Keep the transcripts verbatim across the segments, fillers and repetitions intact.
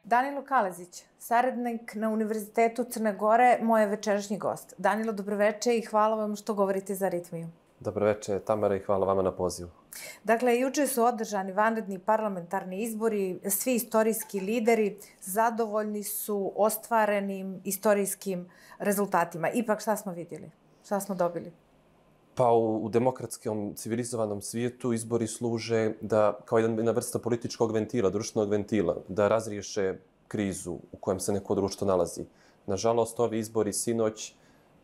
Danilo Kalezić, saradnik na Univerzitetu Crne Gore, moj je večerašnji gost. Danilo, dobroveče i hvala vam što govorite za Aritmiju. Dobroveče, Tamara, i hvala vama na pozivu. Dakle, juče su održani vanredni parlamentarni izbori, svi istorijski lideri zadovoljni su ostvarenim istorijskim rezultatima. Ipak, šta smo vidjeli? Šta smo dobili? Pa u, u demokratskom, civilizovanom svijetu izbori služe da, kao jedna vrsta političkog ventila, društvenog ventila, da razriješe krizu u kojem se neko društvo nalazi. Nažalost, ovi izbori sinoć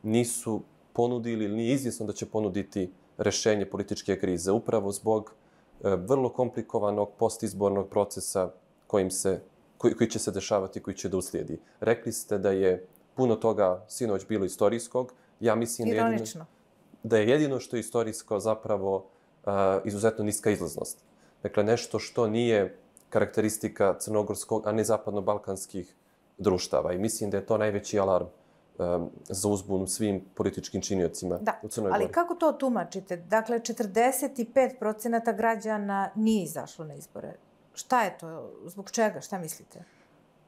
nisu ponudili ili nije izvjesno da će ponuditi rešenje političke krize, upravo zbog e, vrlo komplikovanog postizbornog procesa kojim se, koji, koji će se dešavati, koji će da uslijedi. Rekli ste da je puno toga sinoć bilo istorijskog. Ja mislim da je, jedino, da je jedino što je istorijsko zapravo uh, izuzetno niska izlaznost. Dakle, nešto što nije karakteristika crnogorskog, a ne zapadno-balkanskih društava. I mislim da je to najveći alarm um, za uzbunu svim političkim činiocima da, u Crnoj Gori. Ali kako to tumačite? Dakle, četrdeset pet procenata građana nije izašlo na izbore. Šta je to? Zbog čega? Šta mislite?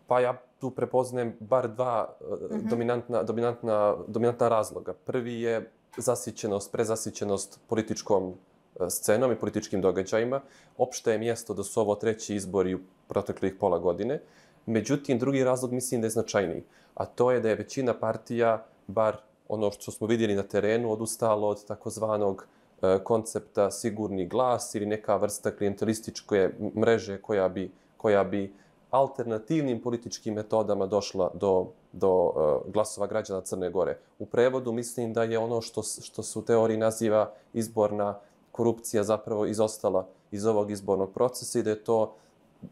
Pa ja tu prepoznajem bar dva uh, dominantna, dominantna, dominantna razloga. Prvi je zasićenost, prezasićenost političkom scenom i političkim događajima. Opšte je mjesto da su ovo treći izbori u proteklih pola godine. Međutim, drugi razlog mislim da je značajniji. A to je da je većina partija, bar ono što smo vidjeli na terenu, odustalo od takozvanog koncepta sigurni glas ili neka vrsta klijentelističke mreže koja bi, koja bi alternativnim političkim metodama došla do, do uh, glasova građana Crne Gore. U prevodu mislim da je ono što, što se u teoriji naziva izborna korupcija zapravo izostala iz ovog izbornog procesa i da je to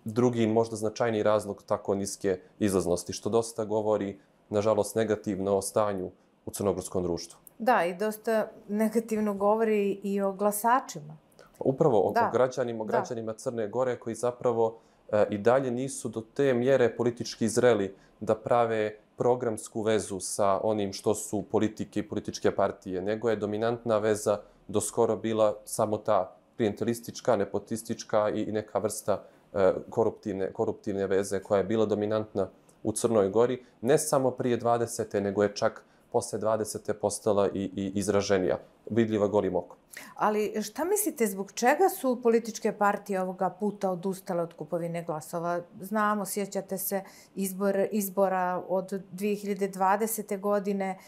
drugi, možda značajniji razlog tako niske izlaznosti, što dosta govori, nažalost, negativno o stanju u crnogorskom društvu. Da, i dosta negativno govori i o glasačima. Upravo o, o građanima, o građanima Crne Gore koji zapravo i dalje nisu do te mjere politički zreli da prave programsku vezu sa onim što su politike i političke partije, nego je dominantna veza do skoro bila samo ta klijentelistička, nepotistička i neka vrsta koruptivne, koruptivne veze koja je bila dominantna u Crnoj Gori, ne samo prije dvadesete, nego je čak posle dvadesete postala i, i izraženija, vidljiva golim okom. Ali šta mislite, zbog čega su političke partije ovoga puta odustale od kupovine glasova? Znamo, sjećate se izbor, izbora od dvije hiljade dvadesete. godine,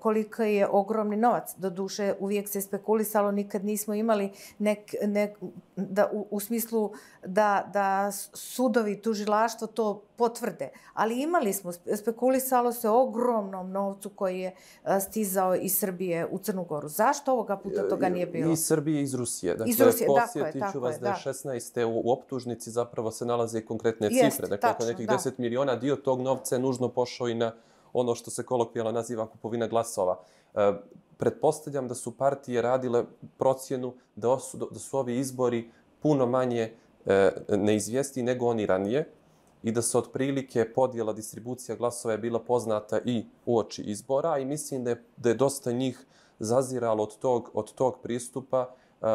koliko je ogromni novac. Doduše, uvijek se spekulisalo, nikad nismo imali nek, nek, da, u, u smislu da, da sudovi, tužilaštvo to potvrde. Ali imali smo, spekulisalo se o ogromnom novcu koji je stizao iz Srbije u Crnu Goru. Zašto ovoga puta toga nije bilo? Iz Srbije i iz Rusije. Dakle, iz Rusije, posjetit ću vas je, da je šesnaeste. u, u optužnici zapravo se nalaze konkretne cifre. Jest, dakle, tačno, nekih da. deset miliona, dio tog novca je nužno pošao i na ono što se kolokvijalno naziva kupovina glasova. E, pretpostavljam da su partije radile procjenu da su, da su ovi izbori puno manje e, neizvijesti nego oni ranije i da se otprilike podjela distribucija glasova je bila poznata i uoči izbora i mislim da je, da je dosta njih zaziralo od tog, od tog pristupa uh,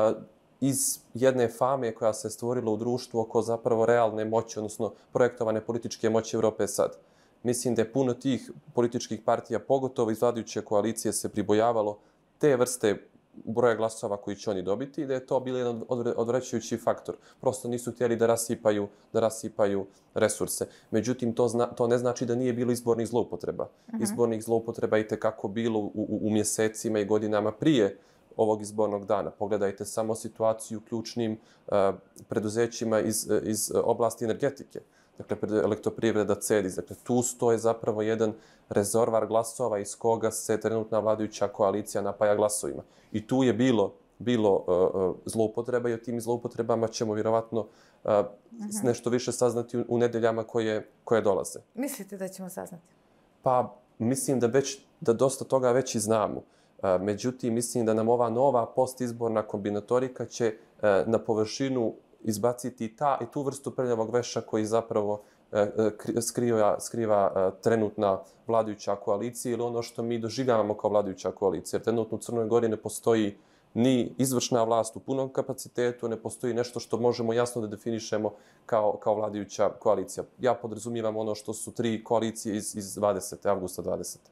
iz jedne fame koja se stvorila u društvu oko zapravo realne moći, odnosno projektovane političke moći Evrope sad. Mislim da je puno tih političkih partija, pogotovo iz vladajuće koalicije, se pribojavalo te vrste broja glasova koji će oni dobiti i da je to bio jedan odvraćajući faktor. Prosto nisu htjeli da rasipaju, da rasipaju resurse. Međutim, to, zna, to ne znači da nije bilo izbornih zloupotreba. Uh-huh. Izbornih zloupotreba i tekako bilo u, u, u mjesecima i godinama prije ovog izbornog dana. Pogledajte samo situaciju u ključnim uh, preduzećima iz, iz oblasti energetike. Dakle, elektroprivreda, CEDIS. Dakle, tu stoje zapravo jedan rezervar glasova iz koga se trenutna vladajuća koalicija napaja glasovima. I tu je bilo, bilo uh, zloupotreba i o tim zloupotrebama ćemo vjerovatno uh, uh-huh. nešto više saznati u, u nedeljama koje, koje dolaze. Mislite da ćemo saznati? Pa, mislim da, već, da dosta toga već i znamo. Uh, međutim, mislim da nam ova nova postizborna kombinatorika će uh, na površinu izbaciti ta i tu vrstu prljavog veša koji zapravo e, skriva, skriva e, trenutna vladajuća koalicija ili ono što mi doživljavamo kao vladajuća koalicija. Jer trenutno u Crnoj Gori ne postoji ni izvršna vlast u punom kapacitetu, ne postoji nešto što možemo jasno da definišemo kao, kao vladajuća koalicija. Ja podrazumijevam ono što su tri koalicije iz, iz dvadesete avgusta dvadesete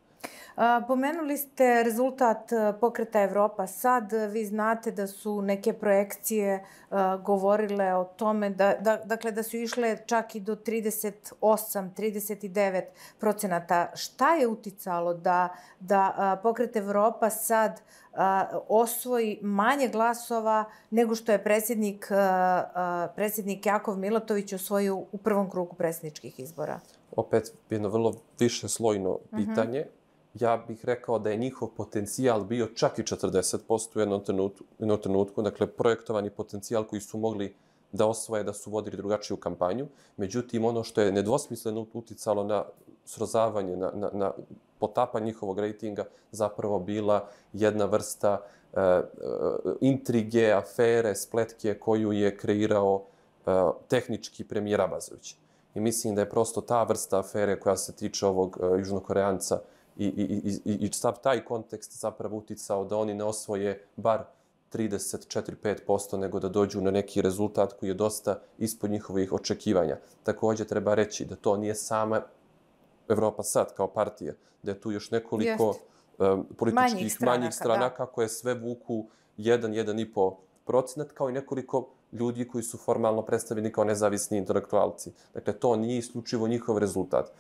Pomenuli ste rezultat pokreta Evropa sad. Vi znate da su neke projekcije govorile o tome da, da, dakle, da su išle čak i do trideset osam, trideset devet procenata. Šta je uticalo da, da pokret Evropa sad osvoji manje glasova nego što je predsjednik, predsjednik Jakov Milatović osvojio u prvom krugu predsjedničkih izbora? Opet jedno vrlo višeslojno pitanje. Uh-huh. Ja bih rekao da je njihov potencijal bio čak i četrdeset posto u jednom trenutku, jednom trenutku, dakle projektovani potencijal koji su mogli da osvoje, da su vodili drugačiju kampanju. Međutim, ono što je nedvosmisleno uticalo na srozavanje, na, na, na potapanje njihovog rejtinga, zapravo bila jedna vrsta uh, uh, intrige, afere, spletke koju je kreirao uh, tehnički premijer Abazović. I mislim da je prosto ta vrsta afere koja se tiče ovog uh, južnokoreanca I, i, i, i sav taj kontekst zapravo uticao da oni ne osvoje bar trideset četiri do pet posto, nego da dođu na neki rezultat koji je dosta ispod njihovih očekivanja. Također treba reći da to nije sama Evropa sad kao partija, da je tu još nekoliko um, političkih manjih stranaka, manjih stranaka koje sve vuku jedan do jedan i po procenat, kao i nekoliko ljudi koji su formalno predstavljeni kao nezavisni intelektualci. Dakle, to nije isključivo njihov rezultat.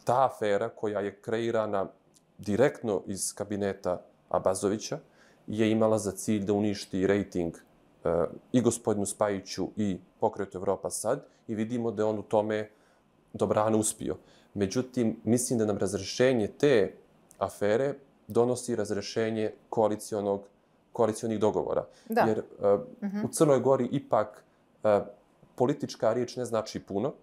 Ta afera koja je kreirana direktno iz kabineta Abazovića je imala za cilj da uništi rejting uh, i gospodinu Spajiću i pokretu Evropa sad i vidimo da je on u tome dobrano uspio. Međutim, mislim da nam razrešenje te afere donosi razrešenje koalicionog, koalicionih dogovora. Da. Jer uh, uh-huh. u Crnoj Gori ipak uh, politička riječ ne znači puno,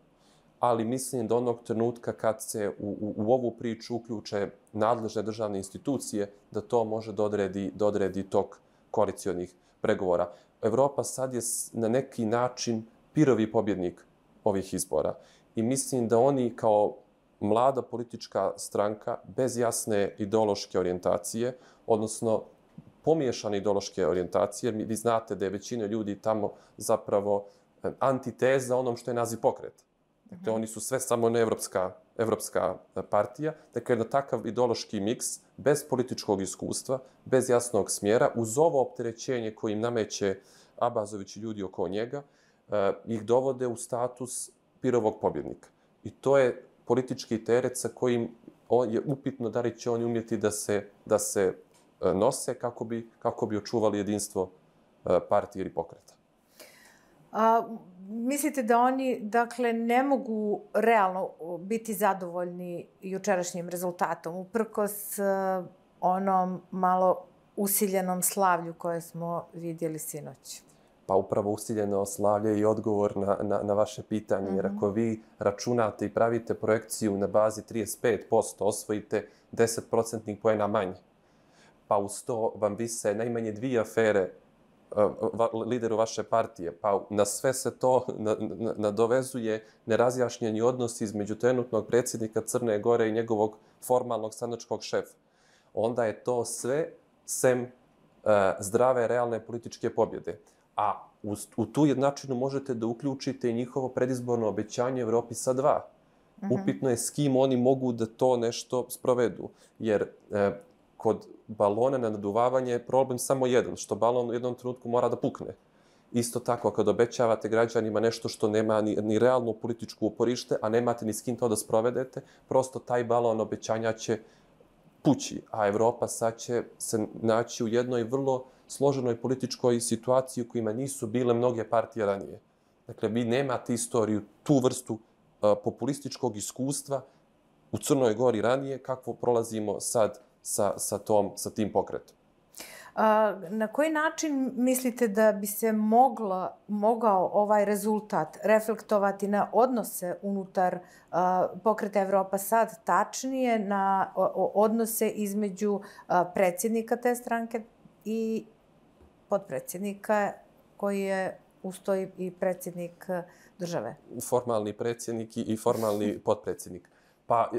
ali mislim da onog trenutka kad se u, u, u ovu priču uključe nadležne državne institucije, da to može da odredi, da odredi tok koalicionih pregovora. Evropa sad je na neki način prvi pobjednik ovih izbora. I mislim da oni kao mlada politička stranka bez jasne ideološke orijentacije, odnosno pomiješane ideološke orijentacije, vi znate da je većina ljudi tamo zapravo antiteza onom što je naziv pokreta. Dakle, oni su sve samo ne evropska, evropska partija. Dakle, jedan takav ideološki miks, bez političkog iskustva, bez jasnog smjera, uz ovo opterećenje koje im nameće Abazović i ljudi oko njega, eh, ih dovode u status pirovog pobjednika. I to je politički teret sa kojim je upitno da li će oni umjeti da se, da se eh, nose kako bi, kako bi očuvali jedinstvo eh, partije ili pokreta. A, mislite da oni, dakle, ne mogu realno biti zadovoljni jučerašnjim rezultatom, uprkos onom malo usiljenom slavlju koje smo vidjeli sinoć? Pa upravo usiljeno slavlje i odgovor na, na, na vaše pitanje. Mm-hmm. Jer ako vi računate i pravite projekciju na bazi trideset pet posto, osvojite deset procentnih poena manje. Pa uz to vam vise najmanje dvije afere lideru vaše partije, pa na sve se to nadovezuje nerazjašnjeni odnos između trenutnog predsjednika Crne Gore i njegovog formalnog stranačkog šefa. Onda je to sve sem uh, zdrave, realne političke pobjede. A u, u tu jednačinu možete da uključite i njihovo predizborno obećanje Evropi sa dva. Mm-hmm. Upitno je s kim oni mogu da to nešto sprovedu. Jer uh, kod balona na naduvavanje je problem samo jedan, što balon u jednom trenutku mora da pukne. Isto tako, kad obećavate građanima nešto što nema ni, ni realno političku uporište, a nemate ni s kim to da sprovedete, prosto taj balon obećanja će pući, a Evropa sad će se naći u jednoj vrlo složenoj političkoj situaciji u kojima nisu bile mnoge partije ranije. Dakle, vi nemate istoriju, tu vrstu uh, populističkog iskustva u Crnoj Gori ranije, kakvo prolazimo sad sa, sa, tom, sa tim pokretom. A, na koji način mislite da bi se mogla, mogao ovaj rezultat reflektovati na odnose unutar a, pokreta Evropa sad, tačnije na o, odnose između a, predsjednika te stranke i potpredsjednika koji je usto i predsjednik države? Formalni predsjednik i formalni potpredsjednik. Pa,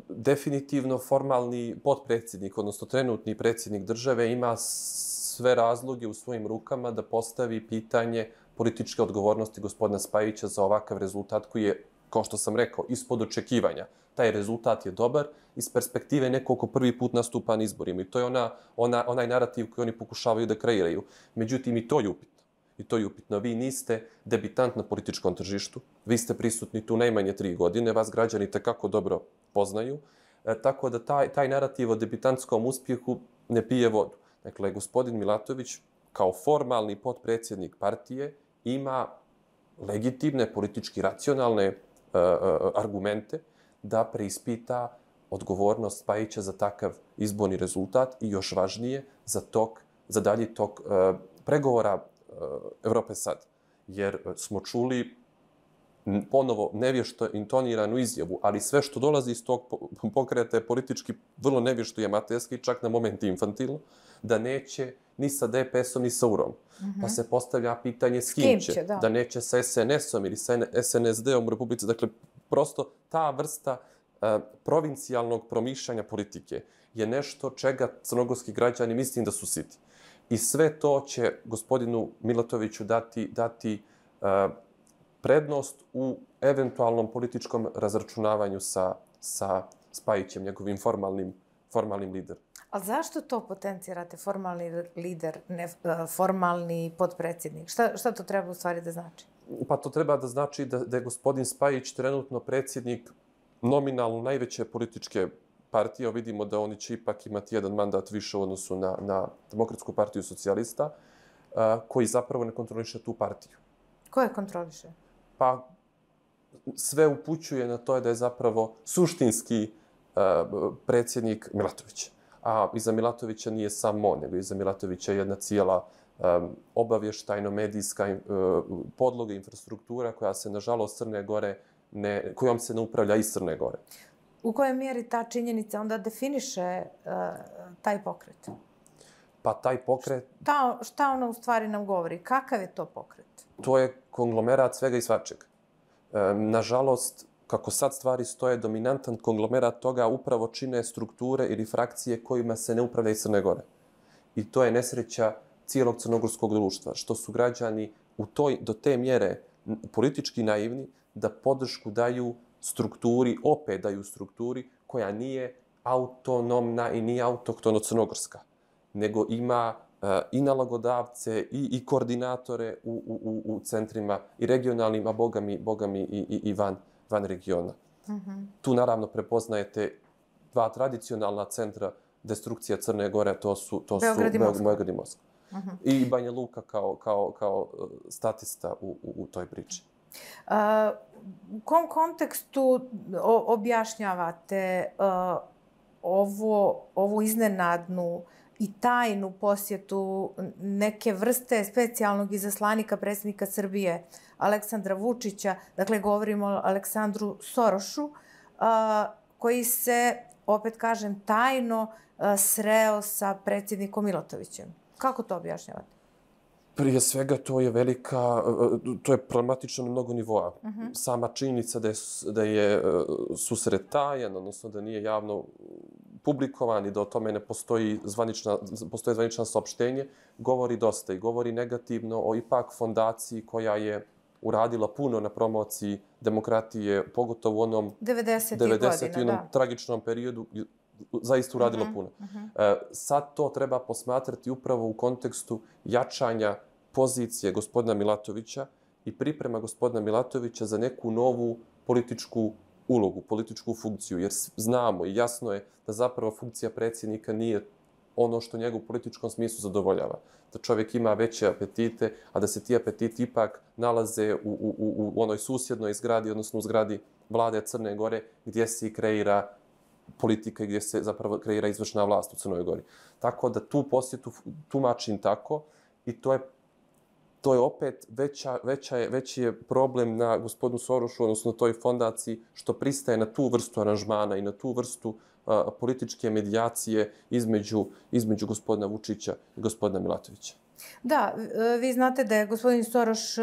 definitivno formalni potpredsjednik, odnosno trenutni predsjednik države, ima sve razloge u svojim rukama da postavi pitanje političke odgovornosti gospodina Spajića za ovakav rezultat koji je, kao što sam rekao, ispod očekivanja. Taj rezultat je dobar iz perspektive nekog ko prvi put nastupa na izborima. I to je ona, ona, onaj narativ koji oni pokušavaju da kreiraju. Međutim, i to je upitno. I to je upitno. Vi niste debitant na političkom tržištu. Vi ste prisutni tu najmanje tri godine. Vas građani tekako dobro poznaju. E, tako da taj, taj narativ o debitantskom uspjehu ne pije vodu. Dakle, gospodin Milatović kao formalni potpredsjednik partije ima legitimne, politički racionalne uh, uh, argumente da preispita odgovornost Spajića za takav izborni rezultat i još važnije za tok, za dalji tok uh, pregovora uh, Evrope sad. Jer smo čuli ponovo nevješto intoniranu izjavu, ali sve što dolazi iz tog pokreta je politički vrlo nevješto i amaterski, čak na moment infantilno, da neće ni sa D P S-om ni sa U R-om. Mm-hmm. Pa se postavlja pitanje s kim, s kim će, će da. da neće sa S N S-om ili sa S N S D-om u Republici. Dakle, prosto ta vrsta uh, provincijalnog promišljanja politike je nešto čega crnogorski građani mislim da su siti. I sve to će gospodinu Milatoviću dati, dati uh, prednost u eventualnom političkom razračunavanju sa, sa Spajićem, njegovim formalnim, formalnim liderom. A zašto to potencirate, formalni lider, ne formalni potpredsjednik? Šta, šta to treba u stvari da znači? Pa to treba da znači da, da je gospodin Spajić trenutno predsjednik nominalno najveće političke partije. Vidimo da oni će ipak imati jedan mandat više u odnosu na, na Demokratsku partiju socijalista, a, koji zapravo ne kontroliše tu partiju. Ko je kontroliše? Pa sve upućuje na to da je zapravo suštinski uh, predsjednik Milatović. A iza Milatovića nije samo on, nego iza Milatovića je jedna cijela um, obavještajno-medijska uh, podloga, infrastruktura koja se, nažalost, Crne Gore ne, kojom se ne upravlja iz Crne Gore. U kojoj mjeri ta činjenica onda definiše uh, taj pokret? Pa taj pokret... Šta, šta ono u stvari nam govori? Kakav je to pokret? To je konglomerat svega i svačega. E, nažalost, kako sad stvari stoje, dominantan konglomerat toga upravo čine strukture ili frakcije kojima se ne upravlja iz Crne Gore. I to je nesreća cijelog crnogorskog društva, što su građani u toj, do te mjere politički naivni da podršku daju strukturi, opet daju strukturi koja nije autonomna i nije autohtono crnogorska, nego ima uh, i nalagodavce i, i koordinatore u, u, u centrima i regionalnim, a bogami, bogami i, i, i van, van regiona. Mm-hmm. Tu naravno prepoznajete dva tradicionalna centra destrukcija Crne Gore, to su, to Beograd su i Moskva. Beograd i Moskva. Mm-hmm. I Banja Luka kao, kao, kao statista u, u, u toj priči. Uh, u kom kontekstu o, objašnjavate uh, ovo, ovu iznenadnu i tajnu posjetu neke vrste specijalnog izaslanika predsjednika Srbije Aleksandra Vučića, dakle govorimo o Aleksandru Sorošu, koji se, opet kažem, tajno sreo sa predsjednikom Milatovićem. Kako to objašnjavate? Prije svega to je velika, to je problematično na mnogo nivoa. Uh-huh. Sama činjenica da je, da je susret tajan, odnosno da nije javno publikovan i da o tome ne postoji zvanična, postoje zvanična saopštenje, govori dosta i govori negativno o ipak fondaciji koja je uradila puno na promociji demokratije, pogotovo u onom devedesetih devedesetih godina, da. tragičnom periodu, zaista uradilo uh-huh, puno. Uh-huh. Sad to treba posmatrati upravo u kontekstu jačanja pozicije gospodina Milatovića i priprema gospodina Milatovića za neku novu političku ulogu, političku funkciju, jer znamo i jasno je da zapravo funkcija predsjednika nije ono što njega u političkom smislu zadovoljava. Da čovjek ima veće apetite, a da se ti apetiti ipak nalaze u, u, u, u onoj susjednoj zgradi, odnosno u zgradi vlade Crne Gore, gdje se i kreira politika i gdje se zapravo kreira izvršna vlast u Crnoj Gori. Tako da tu posjetu tumačim tako i to je to je opet veća, veća je, veći je problem na gospodinu Sorošu, odnosno toj fondaciji, što pristaje na tu vrstu aranžmana i na tu vrstu a, političke medijacije između, između gospodina Vučića i gospodina Milatovića. Da, vi znate da je gospodin Soroš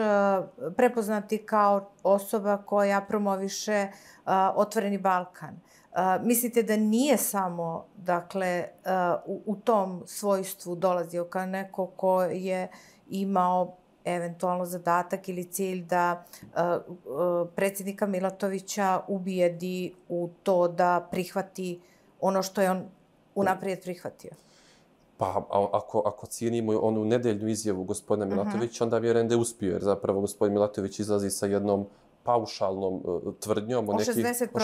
prepoznati kao osoba koja promoviše Otvoreni Balkan. Mislite da nije samo, dakle, u, u tom svojstvu dolazio kao neko ko je imao eventualno zadatak ili cilj da predsjednika Milatovića ubijedi u to da prihvati ono što je on unaprijed prihvatio? Pa ako, ako cijenimo onu nedeljnu izjavu gospodina Milatovića, onda vjerujem da je uspio, jer zapravo gospodin Milatović izlazi sa jednom paušalnom uh, tvrdnjom o nekih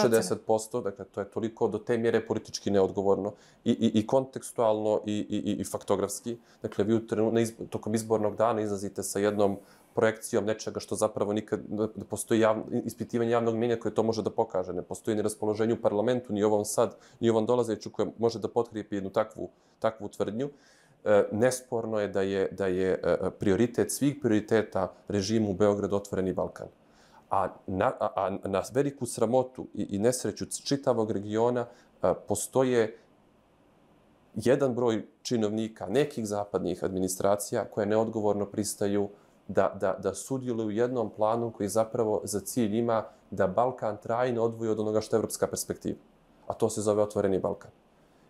šezdeset posto, dakle to je toliko do te mjere politički neodgovorno i, i, i kontekstualno i, i, i faktografski. Dakle, vi u trenu, izb, tokom izbornog dana izlazite sa jednom projekcijom nečega što zapravo nikad ne postoji javno, ispitivanje javnog mjenja koje to može da pokaže. Ne postoji ni raspoloženje u parlamentu, ni ovom sad, ni ovom dolazeću koje može da potkrijepi jednu takvu, takvu tvrdnju. E, nesporno je da je, da je e, prioritet svih prioriteta režimu u Beogradu Otvoreni Balkan. A na, a, a na veliku sramotu i, i nesreću čitavog regiona a, postoje jedan broj činovnika nekih zapadnih administracija koje neodgovorno pristaju da, da, da sudjeluju u jednom planu koji zapravo za cilj ima da Balkan trajno odvoji od onoga što je evropska perspektiva. A to se zove Otvoreni Balkan.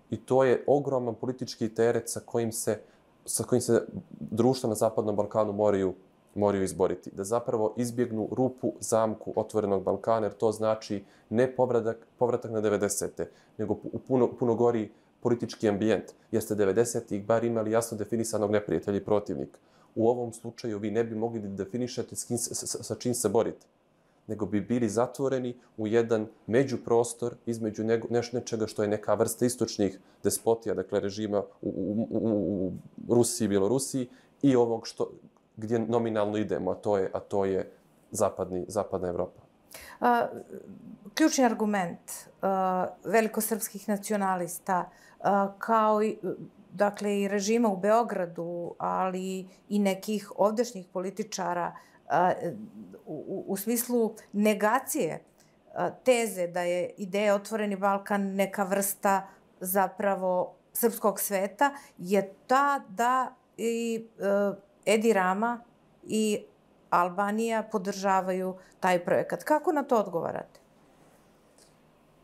I to je ogroman politički teret sa kojim se, sa kojim se društva na Zapadnom Balkanu moraju moraju izboriti. Da zapravo izbjegnu rupu, zamku Otvorenog Balkana, jer to znači ne povratak, povratak na devedesete, nego u puno, puno gori politički ambijent. Jer ste devedesetih bar imali jasno definisanog neprijatelja i protivnika. U ovom slučaju vi ne bi mogli da definišete s kim, sa, sa čim se borite, nego bi bili zatvoreni u jedan međuprostor između nego, neš, nečega što je neka vrsta istočnih despotija, dakle režima u, u, u, u Rusiji i Bjelorusiji i ovog što gdje nominalno idemo, a to je, a to je zapadni, zapadna Evropa. A, ključni argument a, velikosrpskih nacionalista, a, kao i, dakle, i režima u Beogradu, ali i nekih ovdašnjih političara, a, u, u smislu negacije a, teze da je ideja Otvoreni Balkan neka vrsta zapravo srpskog sveta, je ta da i a, Edi Rama i Albanija podržavaju taj projekat. Kako na to odgovarate?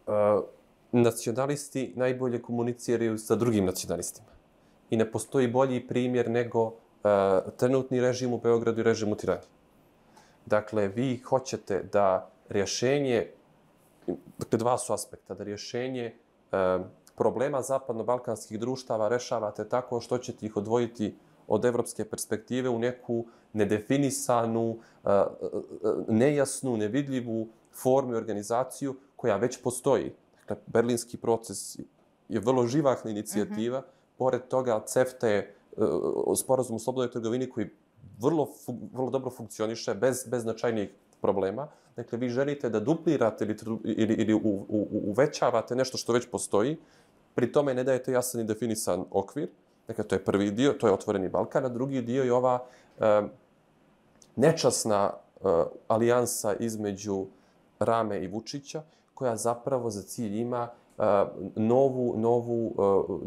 Uh, nacionalisti najbolje komuniciraju sa drugim nacionalistima. I ne postoji bolji primjer nego uh, trenutni režim u Beogradu i režim u Tirani. Dakle, vi hoćete da rješenje, dakle dva su aspekta, da rješenje uh, problema zapadno-balkanskih društava rešavate tako što ćete ih odvojiti od evropske perspektive u neku nedefinisanu, nejasnu, nevidljivu formu i organizaciju koja već postoji. Dakle, berlinski proces je vrlo živahna inicijativa. Mm-hmm. Pored toga, CEFTA je sporazum o slobodnoj trgovini koji vrlo, vrlo dobro funkcioniše bez, bez značajnijih problema. Dakle, vi želite da duplirate ili, ili, ili u, u, uvećavate nešto što već postoji, pri tome ne dajete jasan i definisan okvir. Dakle, to je prvi dio, to je Otvoreni Balkan, a drugi dio je ova e, nečasna e, alijansa između Rame i Vučića, koja zapravo za cilj ima e, novu, novu,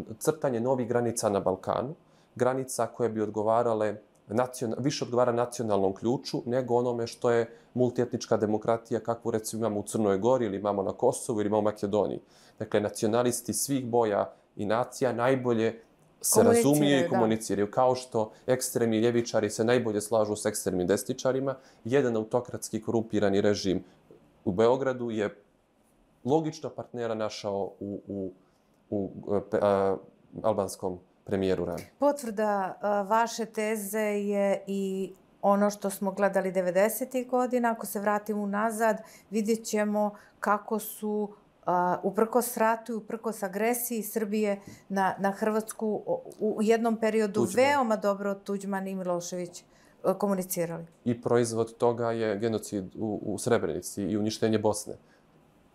e, crtanje novih granica na Balkanu, granica koje bi odgovarale, nacional, više odgovara nacionalnom ključu nego onome što je multietnička demokratija, kakvu recimo imamo u Crnoj Gori ili imamo na Kosovu ili imamo u Makedoniji. Dakle, nacionalisti svih boja i nacija najbolje se razumiju i komuniciraju, kao što ekstremni ljevičari se najbolje slažu s ekstremnim desničarima. Jedan autokratski korumpirani režim u Beogradu je logično partnera našao u, u, u a, albanskom premijeru Rami. Potvrda a, vaše teze je i ono što smo gledali devedesetih godina. Ako se vratimo unazad, vidjet ćemo kako su Uh, uprkos ratu i uprkos agresiji Srbije na, na Hrvatsku u, u jednom periodu Tuđman. veoma dobro Tuđman i Milošević uh, komunicirali. I proizvod toga je genocid u, u Srebrenici i uništenje Bosne.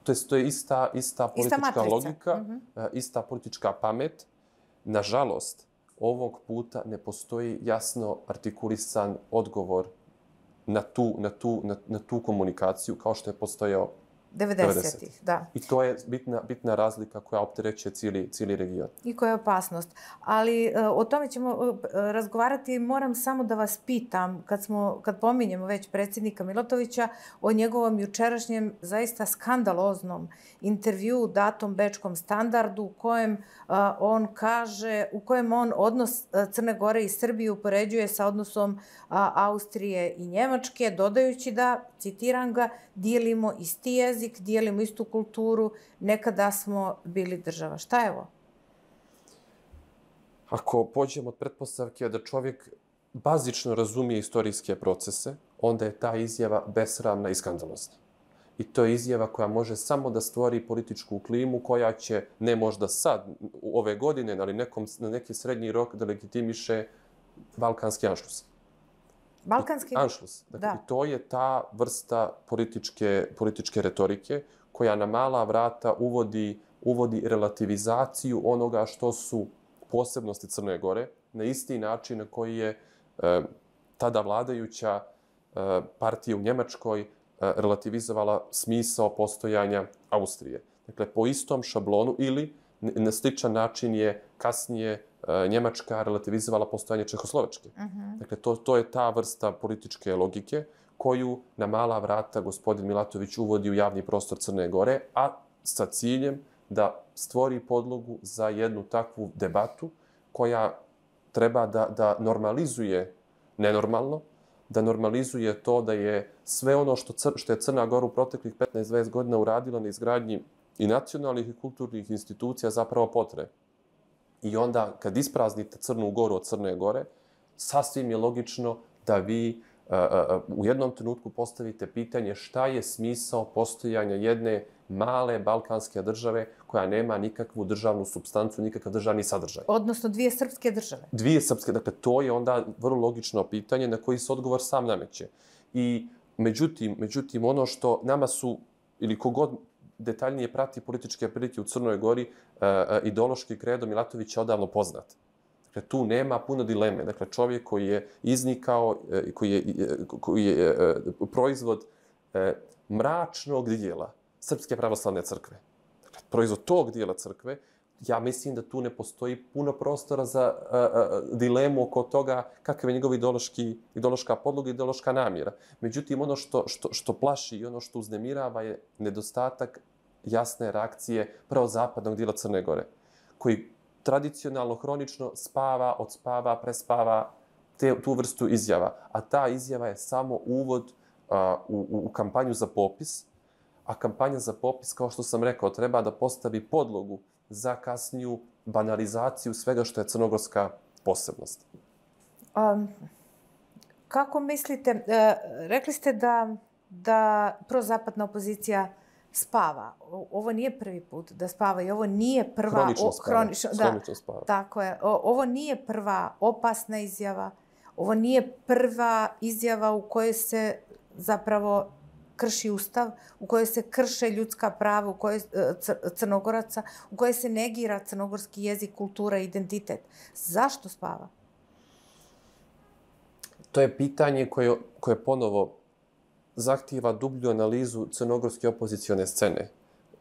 To je, to je ista, ista politička ista logika, mm-hmm. uh, ista politička pamet. Nažalost, ovog puta ne postoji jasno artikulisan odgovor na tu, na tu, na, na tu komunikaciju kao što je postojao devedesetih, da. I to je bitna, bitna razlika koja opterećuje cijeli, cijeli region. I koja je opasnost. Ali o tome ćemo razgovarati. Moram samo da vas pitam, kad, smo, kad pominjemo već predsjednika Milatovića, o njegovom jučerašnjem zaista skandaloznom intervju datom Bečkom standardu u kojem a, on kaže, u kojem on odnos Crne Gore i Srbije upoređuje sa odnosom a, Austrije i Njemačke, dodajući da, citiram ga, dijelimo isti jezik, dijelimo istu kulturu, nekada smo bili država. Šta je ovo? Ako pođemo od pretpostavke da čovjek bazično razumije istorijske procese, onda je ta izjava besramna i skandalozna. I to je izjava koja može samo da stvori političku klimu koja će, ne možda sad, ove godine, ali nekom, na neki srednji rok da legitimiše balkanski anšlus. Balkanski? Anšlus. Dakle, da. I to je ta vrsta političke, političke retorike koja na mala vrata uvodi, uvodi relativizaciju onoga što su posebnosti Crne Gore, na isti način na koji je e, tada vladajuća e, partija u Njemačkoj e, relativizovala smisao postojanja Austrije. Dakle, po istom šablonu ili na sličan način je kasnije e, Njemačka relativizovala postojanje Čehoslovačke. Uh-huh. Dakle, to, to je ta vrsta političke logike koju na mala vrata gospodin Milatović uvodi u javni prostor Crne Gore, a sa ciljem da stvori podlogu za jednu takvu debatu koja treba da, da normalizuje nenormalno, da normalizuje to da je sve ono što, cr, što je Crna Gora u proteklih petnaest do dvadeset godina uradila na izgradnji i nacionalnih i kulturnih institucija zapravo potre. I onda kad ispraznite Crnu Goru od Crne Gore, sasvim je logično da vi uh, uh, u jednom trenutku postavite pitanje šta je smisao postojanja jedne male balkanske države koja nema nikakvu državnu supstancu, nikakav državni sadržaj. Odnosno dvije srpske države. Dvije srpske, dakle to je onda vrlo logično pitanje na koji se odgovor sam nameće. I međutim, međutim ono što nama su, ili kogod detaljnije prati političke prilike u Crnoj Gori, uh, uh, ideološki kredo Milatovića odavno poznat. Dakle, tu nema puno dileme. Dakle, čovjek koji je iznikao, uh, koji je, uh, koji je uh, proizvod uh, mračnog dijela Srpske pravoslavne crkve. Dakle, proizvod tog dijela crkve, ja mislim da tu ne postoji puno prostora za a, a, dilemu oko toga kakav je njegov ideološki, ideološka podloga i ideološka namjera. Međutim, ono što, što, što plaši i ono što uznemirava je nedostatak jasne reakcije pravo zapadnog dijela Crne Gore, koji tradicionalno, hronično spava, odspava, prespava te, tu vrstu izjava. A ta izjava je samo uvod a, u, u kampanju za popis, a kampanja za popis, kao što sam rekao, treba da postavi podlogu za kasniju banalizaciju svega što je crnogorska posebnost. Um, kako mislite, uh, rekli ste da, da prozapadna opozicija spava. O, ovo nije prvi put da spava i ovo nije prva... Hronično spava. Hronično, da, Hronično spava. Tako je. O, ovo nije prva opasna izjava. Ovo nije prva izjava u kojoj se zapravo krši ustav, u kojoj se krše ljudska prava, u kojoj Crnogoraca, u kojoj se negira crnogorski jezik, kultura i identitet. Zašto spava? To je pitanje koje, koje ponovo zahtijeva dublju analizu crnogorske opozicione scene.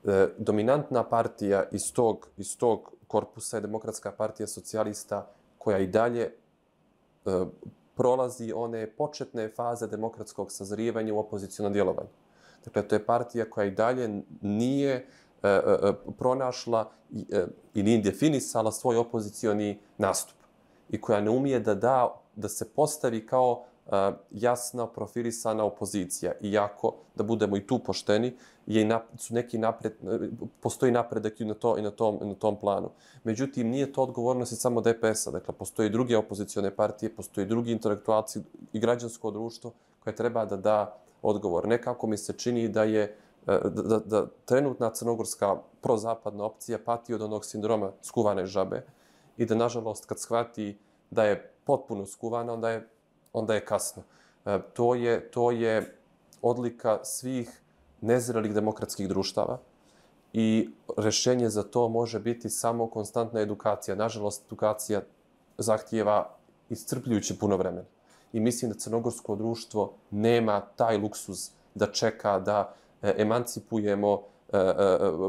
E, dominantna partija iz tog, iz tog korpusa je Demokratska partija socijalista koja i dalje e, prolazi one početne faze demokratskog sazrijevanja u opozicionom djelovanju. Dakle, to je partija koja i dalje nije e, e, pronašla i, e, i nije definisala svoj opozicioni nastup i koja ne umije da da, da se postavi kao e, jasna profilisana opozicija. Iako, da budemo i tu pošteni, je nap, su neki napred, postoji napredak i na, to, i na, tom, na tom planu. Međutim, nije to odgovornost samo D P S-a. Dakle, postoji druge opozicione partije, postoji drugi intelektualci i građansko društvo koje treba da da odgovor. Nekako mi se čini da je da, da, da trenutna crnogorska prozapadna opcija pati od onog sindroma skuvane žabe i da, nažalost, kad shvati da je potpuno skuvana, onda je, onda je kasno. E, to je, to je odlika svih nezrelih demokratskih društava i rješenje za to može biti samo konstantna edukacija. Nažalost, edukacija zahtijeva iscrpljujuće puno vremena. I mislim da crnogorsko društvo nema taj luksuz da čeka da emancipujemo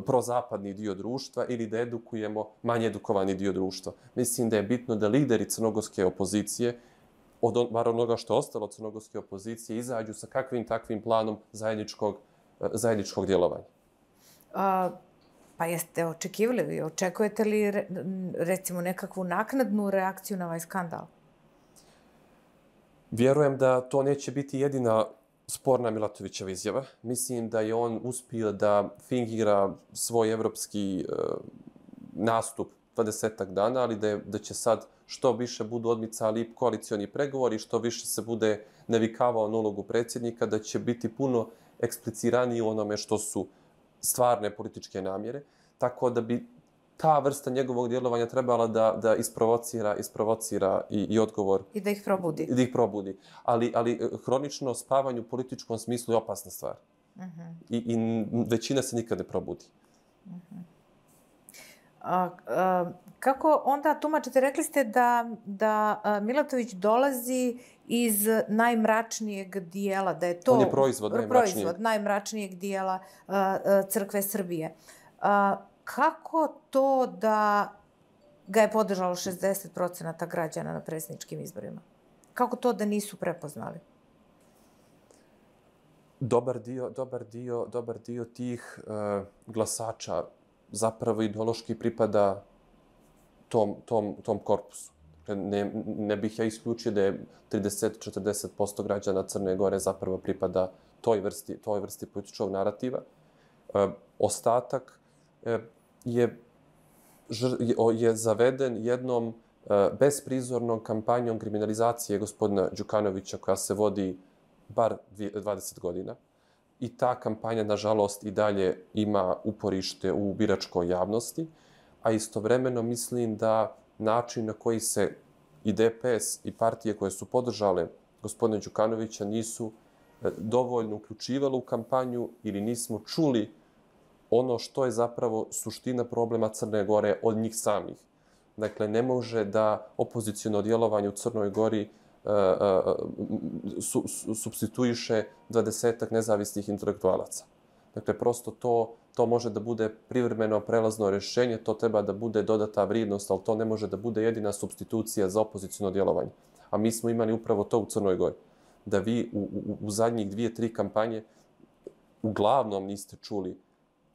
prozapadni dio društva ili da edukujemo manje edukovani dio društva. Mislim da je bitno da lideri crnogorske opozicije, od bar onoga što je ostalo crnogorske opozicije, izađu sa kakvim takvim planom zajedničkog, zajedničkog djelovanja. A, pa jeste očekivali vi? Očekujete li recimo nekakvu naknadnu reakciju na ovaj skandal? Vjerujem da to neće biti jedina sporna Milatovićeva izjava. Mislim da je on uspio da fingira svoj evropski uh, nastup dvadesetak dana, ali da, je, da će sad što više budu odmicali koalicioni pregovori, što više se bude navikavao na ulogu predsjednika, da će biti puno ekspliciraniji u onome što su stvarne političke namjere. Tako da bi ta vrsta njegovog djelovanja trebala da, da isprovocira, isprovocira i, i odgovor. I da ih probudi. I da ih probudi. Ali, ali hronično spavanje u političkom smislu je opasna stvar. Uh-huh. I, I većina se nikad ne probudi. Uh-huh. A, a, kako onda tumačite? Rekli ste da, da Milatović dolazi iz najmračnijeg dijela, da je to... On je proizvod najmračnijeg. Proizvod najmračnijeg dijela a, a, crkve Srbije. A, kako to da ga je podržalo šezdeset procenata građana na predsjedničkim izborima? Kako to da nisu prepoznali? Dobar dio, dobar dio, dobar dio tih uh, glasača zapravo ideološki pripada tom, tom, tom korpusu. Ne, ne bih ja isključio da je trideset do četrdeset posto građana Crne Gore zapravo pripada toj vrsti, toj vrsti političkog narativa. Uh, ostatak uh, je, je zaveden jednom uh, besprizornom kampanjom kriminalizacije gospodina Đukanovića koja se vodi bar dvadeset godina. I ta kampanja, nažalost, i dalje ima uporište u biračkoj javnosti, a istovremeno mislim da način na koji se i D P S i partije koje su podržale gospodina Đukanovića nisu dovoljno uključivali u kampanju ili nismo čuli ono što je zapravo suština problema Crne Gore od njih samih. Dakle, ne može da opoziciono djelovanje u Crnoj Gori uh, uh, su, su, substituiše dvadesetak nezavisnih intelektualaca. Dakle, prosto to, to može da bude privremeno prelazno rješenje, to treba da bude dodata vrijednost, ali to ne može da bude jedina substitucija za opoziciono djelovanje. A mi smo imali upravo to u Crnoj Gori. Da vi u, u, u zadnjih dvije, tri kampanje uglavnom niste čuli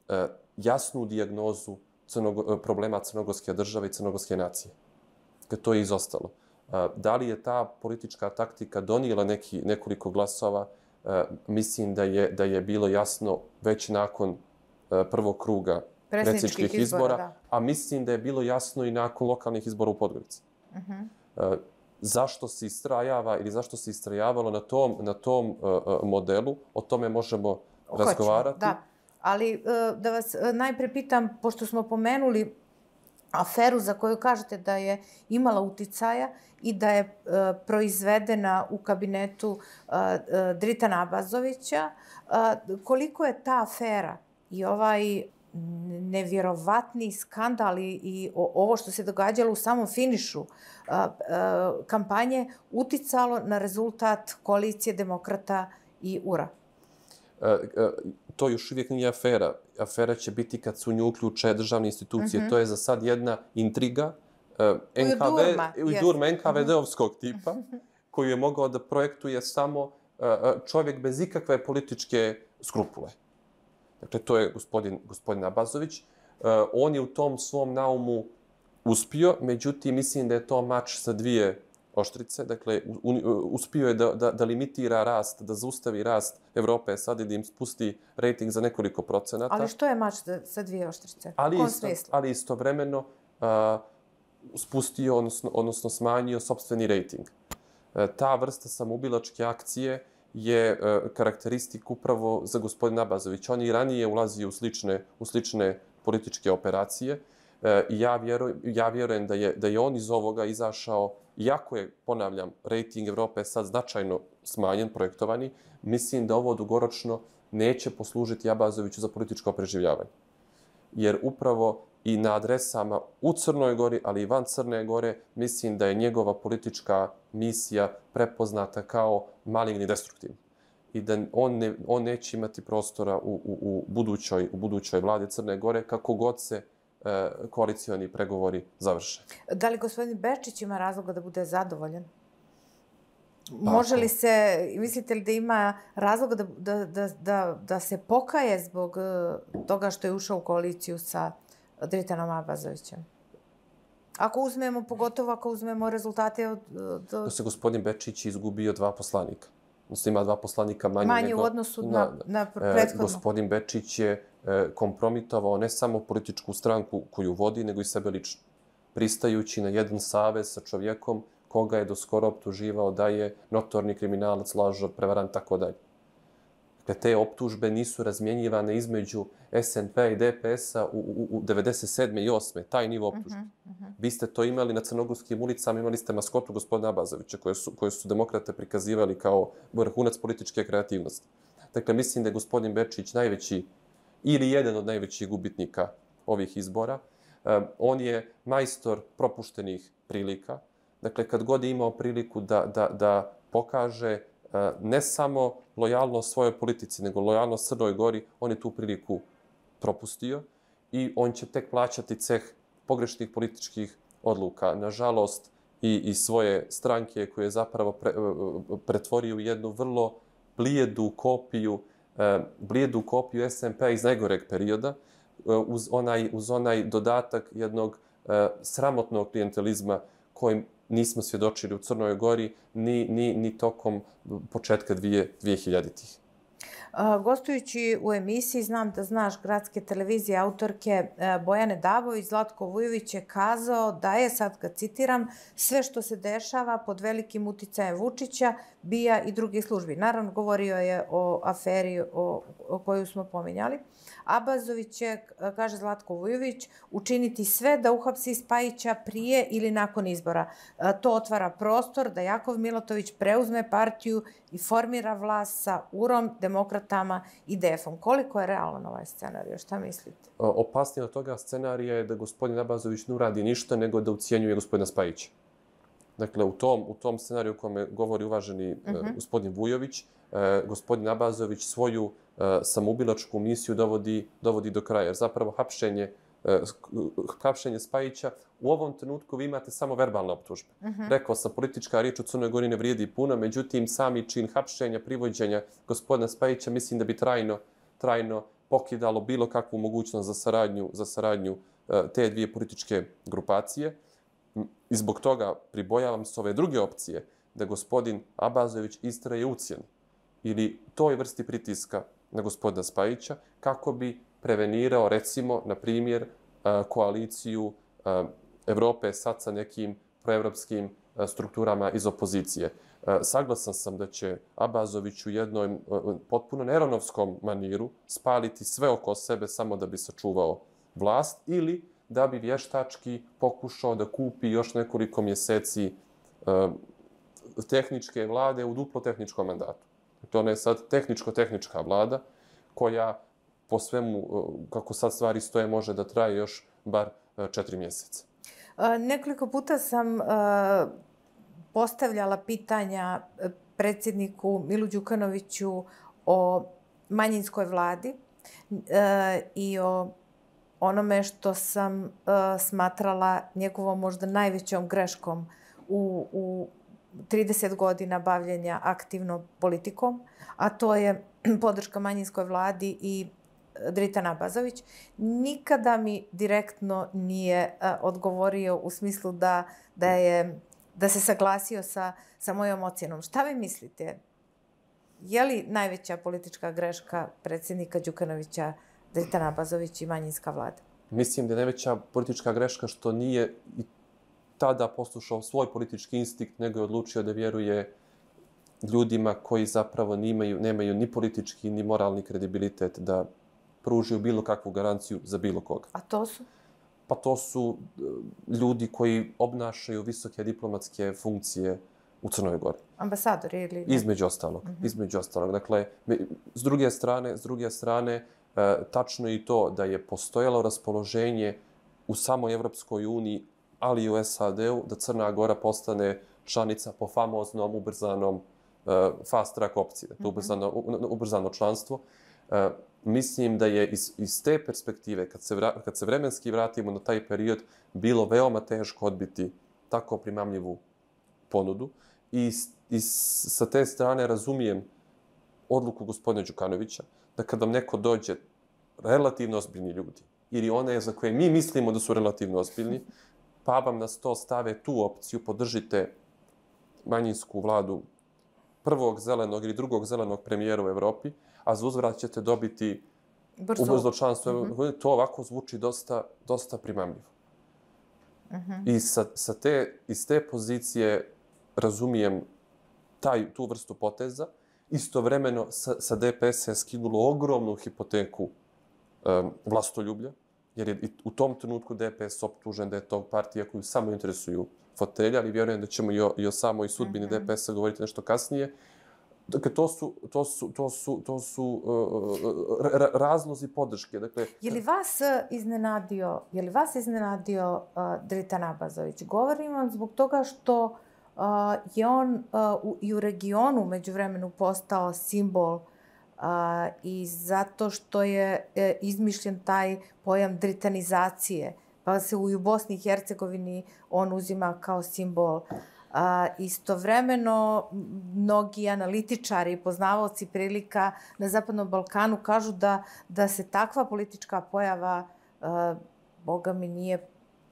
uh, jasnu dijagnozu crnogo, problema crnogorske države i crnogorske nacije. Dakle, to je izostalo. Uh, da li je ta politička taktika donijela neki, nekoliko glasova? Uh, mislim da je, da je bilo jasno već nakon uh, prvog kruga predsjedničkih izbora, izbora a mislim da je bilo jasno i nakon lokalnih izbora u Podgorici. Uh-huh. Uh, zašto se istrajava ili zašto se istrajavalo na tom, na tom uh, modelu, o tome možemo Hoćemo, razgovarati. Da. Ali da vas najprije pitam, pošto smo pomenuli aferu za koju kažete da je imala uticaja i da je proizvedena u kabinetu Dritana Abazovića, koliko je ta afera i ovaj nevjerovatni skandal i ovo što se događalo u samom finišu kampanje uticalo na rezultat koalicije Demokrata i U R A? To još uvijek nije afera. Afera će biti kad su u nju uključe državne institucije. Uh-huh. To je za sad jedna intriga uh, N K V, Ujdurma, N K V D-ovskog tipa, koju je mogao da projektuje samo uh, čovjek bez ikakve političke skrupule. Dakle, to je gospodin, gospodin Abazović. Uh, on je u tom svom naumu uspio, međutim, mislim da je to mač sa dvije oštrice. Dakle, uspio je da, da, da limitira rast, da zaustavi rast Evrope sad i da im spusti rating za nekoliko procenata. Ali što je mač sa dvije oštrice? Ali, isto, ali istovremeno uh, spustio, odnosno, odnosno smanjio sopstveni rating. Uh, ta vrsta samoubilačke akcije je uh, karakteristik upravo za gospodina Abazovića. On i ranije ulazio u slične, u slične političke operacije. Uh, I ja, vjeruj, ja vjerujem da je, da je on iz ovoga izašao. Iako je, ponavljam, rating Evrope sad značajno smanjen, projektovani, mislim da ovo dugoročno neće poslužiti Abazoviću za političko preživljavanje. Jer upravo i na adresama u Crnoj Gori, ali i van Crne Gore, mislim da je njegova politička misija prepoznata kao maligni destruktivni. i da on, ne, on neće imati prostora u, u, u, budućoj, u budućoj vladi Crne Gore kako god se e, koalicioni pregovori završe. Da li gospodin Bečić ima razloga da bude zadovoljan? Pa, Može li se, mislite li da ima razloga da, da, da, da, da se pokaje zbog toga što je ušao u koaliciju sa Dritanom Abazovićem? Ako uzmemo, pogotovo ako uzmemo rezultate od... Do... Da se gospodin Bečić izgubio dva poslanika. Odnosno ima dva poslanika manje, manje nego... u odnosu na, na, na prethodno. E, gospodin Bečić je e, kompromitovao ne samo političku stranku koju vodi, nego i sebe lično. Pristajući na jedan savez sa čovjekom koga je do skoro optuživao da je notorni kriminalac, lažov, prevarant, tako dalje. Dakle, te optužbe nisu razmjenjivane između S N P i D P S-a u, u, u devedeset sedme i osme taj nivo optužbe. Uh-huh, uh-huh. Vi ste to imali na crnogorskim ulicama, imali ste maskotu gospodina Abazovića, koje su, koje su demokrate prikazivali kao vrhunac političke kreativnosti. Dakle, mislim da je gospodin Bečić najveći, ili jedan od najvećih gubitnika ovih izbora. Um, on je majstor propuštenih prilika. Dakle, kad god je imao priliku da, da, da pokaže uh, ne samo lojalnost svojoj politici, nego lojalnost Crnoj Gori, on je tu priliku propustio i on će tek plaćati ceh pogrešnih političkih odluka. Nažalost, i, i svoje stranke koje je zapravo pre, pretvorio u jednu vrlo blijedu kopiju, uh, blijedu kopiju S N P iz najgoreg perioda, uh, uz, onaj, uz onaj dodatak jednog uh, sramotnog klijentelizma kojim nismo svjedočili u Crnoj Gori ni, ni, ni tokom početka dvije hiljaditih. Uh, gostujući u emisiji, znam da znaš gradske televizije, autorke uh, Bojane Davović, Zlatko Vujović je kazao da je, sad ga citiram, sve što se dešava pod velikim uticajem Vučića, B I A i drugih službi. Naravno, govorio je o aferi o, o koju smo pominjali. Abazović će, kaže Zlatko Vujović, učiniti sve da uhapsi Spajića prije ili nakon izbora. To otvara prostor da Jakov Milatović preuzme partiju i formira vlast sa U R O M, demokratama i D E F-om. Koliko je realan ovaj scenarij? Šta mislite? Opasnije od toga scenarija je da gospodin Abazović ne uradi ništa, nego da ucijenjuje gospodina Spajića. Dakle, u tom, u tom scenariju u kome govori uvaženi uh-huh. gospodin Vujović, eh, gospodin Abazović svoju eh, samoubilačku misiju dovodi, dovodi do kraja. Jer zapravo hapšenje, eh, hapšenje Spajića, u ovom trenutku vi imate samo verbalne optužbe. Uh-huh. Rekao sam, politička riječ u Crnoj Gori ne vrijedi puno, međutim, sami čin hapšenja, privođenja gospodina Spajića, mislim da bi trajno, trajno pokidalo bilo kakvu mogućnost za saradnju, za saradnju eh, te dvije političke grupacije. I zbog toga pribojavam se ove druge opcije da gospodin Abazović istraje ucjenu ili toj vrsti pritiska na gospodina Spajića kako bi prevenirao, recimo, na primjer, koaliciju Evrope sad sa nekim proevropskim strukturama iz opozicije. Saglasan sam da će Abazović u jednom potpuno nerovnovskom maniru spaliti sve oko sebe samo da bi sačuvao vlast ili da bi vještački pokušao da kupi još nekoliko mjeseci uh, tehničke vlade u duplo tehničkom mandatu. To je sad tehničko-tehnička vlada koja po svemu, uh, kako sad stvari stoje, može da traje još bar uh, četiri mjeseca. Uh, nekoliko puta sam uh, postavljala pitanja predsjedniku Milu Đukanoviću o manjinskoj vladi uh, i o onome što sam uh, smatrala njegovom možda najvećom greškom u, u trideset godina bavljenja aktivno politikom, a to je podrška manjinskoj vladi i Dritan Abazović. Nikada mi direktno nije uh, odgovorio u smislu da, da, je, da se saglasio sa, sa mojom ocjenom. Šta vi mislite? Je li najveća politička greška predsjednika Đukanovića Dritan Abazović i manjinska vlada? Mislim da je najveća politička greška što nije i tada poslušao svoj politički instinkt, nego je odlučio da vjeruje ljudima koji zapravo nimaju, nemaju ni politički ni moralni kredibilitet da pružiju bilo kakvu garanciju za bilo koga. A to su? Pa to su ljudi koji obnašaju visoke diplomatske funkcije u Crnoj Gori. Ambasadori ili? Između ostalog. Mm-hmm. Između ostalog. Dakle, s druge strane, s druge strane, E, tačno je i to da je postojalo raspoloženje u samoj Evropskoj uniji, ali i u S A D-u, da Crna Gora postane članica po famoznom, ubrzanom fast track opcije, to ubrzano, ubrzano članstvo. Mislim da je iz, iz te perspektive, kad se, vra, kad se vremenski vratimo na taj period, bilo veoma teško odbiti tako primamljivu ponudu. I, i sa te strane razumijem odluku gospodina Đukanovića da kad vam neko dođe, relativno ozbiljni ljudi, ili one za koje mi mislimo da su relativno ozbiljni, pa vam na sto stave tu opciju, podržite manjinsku vladu prvog zelenog ili drugog zelenog premijera u Evropi, a za uzvrat ćete dobiti ubrzo članstvo. Mm-hmm. To ovako zvuči dosta, dosta primamljivo. Mm-hmm. I sa, sa te, iz te pozicije razumijem taj, tu vrstu poteza. Istovremeno sa, sa D P S je skinulo ogromnu hipoteku um, vlastoljublja, jer je u tom trenutku D P S optužen da je to partija koju samo interesuju fotelja, ali vjerujem da ćemo i o, i o samoj sudbini mm-hmm. D P S-a govoriti nešto kasnije. Dakle, to su, to su, to su, to su uh, ra, razlozi podrške. Dakle, je li vas iznenadio, je li vas iznenadio uh, Dritan Abazović? Govorim vam zbog toga što uh, je on uh, u, i u regionu međuvremenu postao simbol uh, i zato što je uh, izmišljen taj pojam dritanizacije, pa se u Bosni i Hercegovini on uzima kao simbol. A, istovremeno, mnogi analitičari i poznavaoci prilika na Zapadnom Balkanu kažu da, da se takva politička pojava, a, boga mi, nije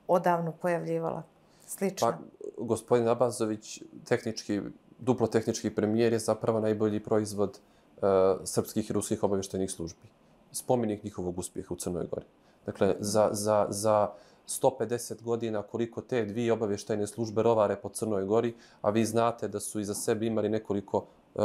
odavno pojavljivala. Slično. Pa, gospodin Abazović, tehnički, duplo tehnički premijer, je zapravo najbolji proizvod a, srpskih i ruskih obavještajnih službi. Spomenik njihovog uspjeha u Crnoj Gori. Dakle, za, za, za sto pedeset godina koliko te dvije obavještajne službe rovare po Crnoj Gori, a vi znate da su iza sebe imali nekoliko uh,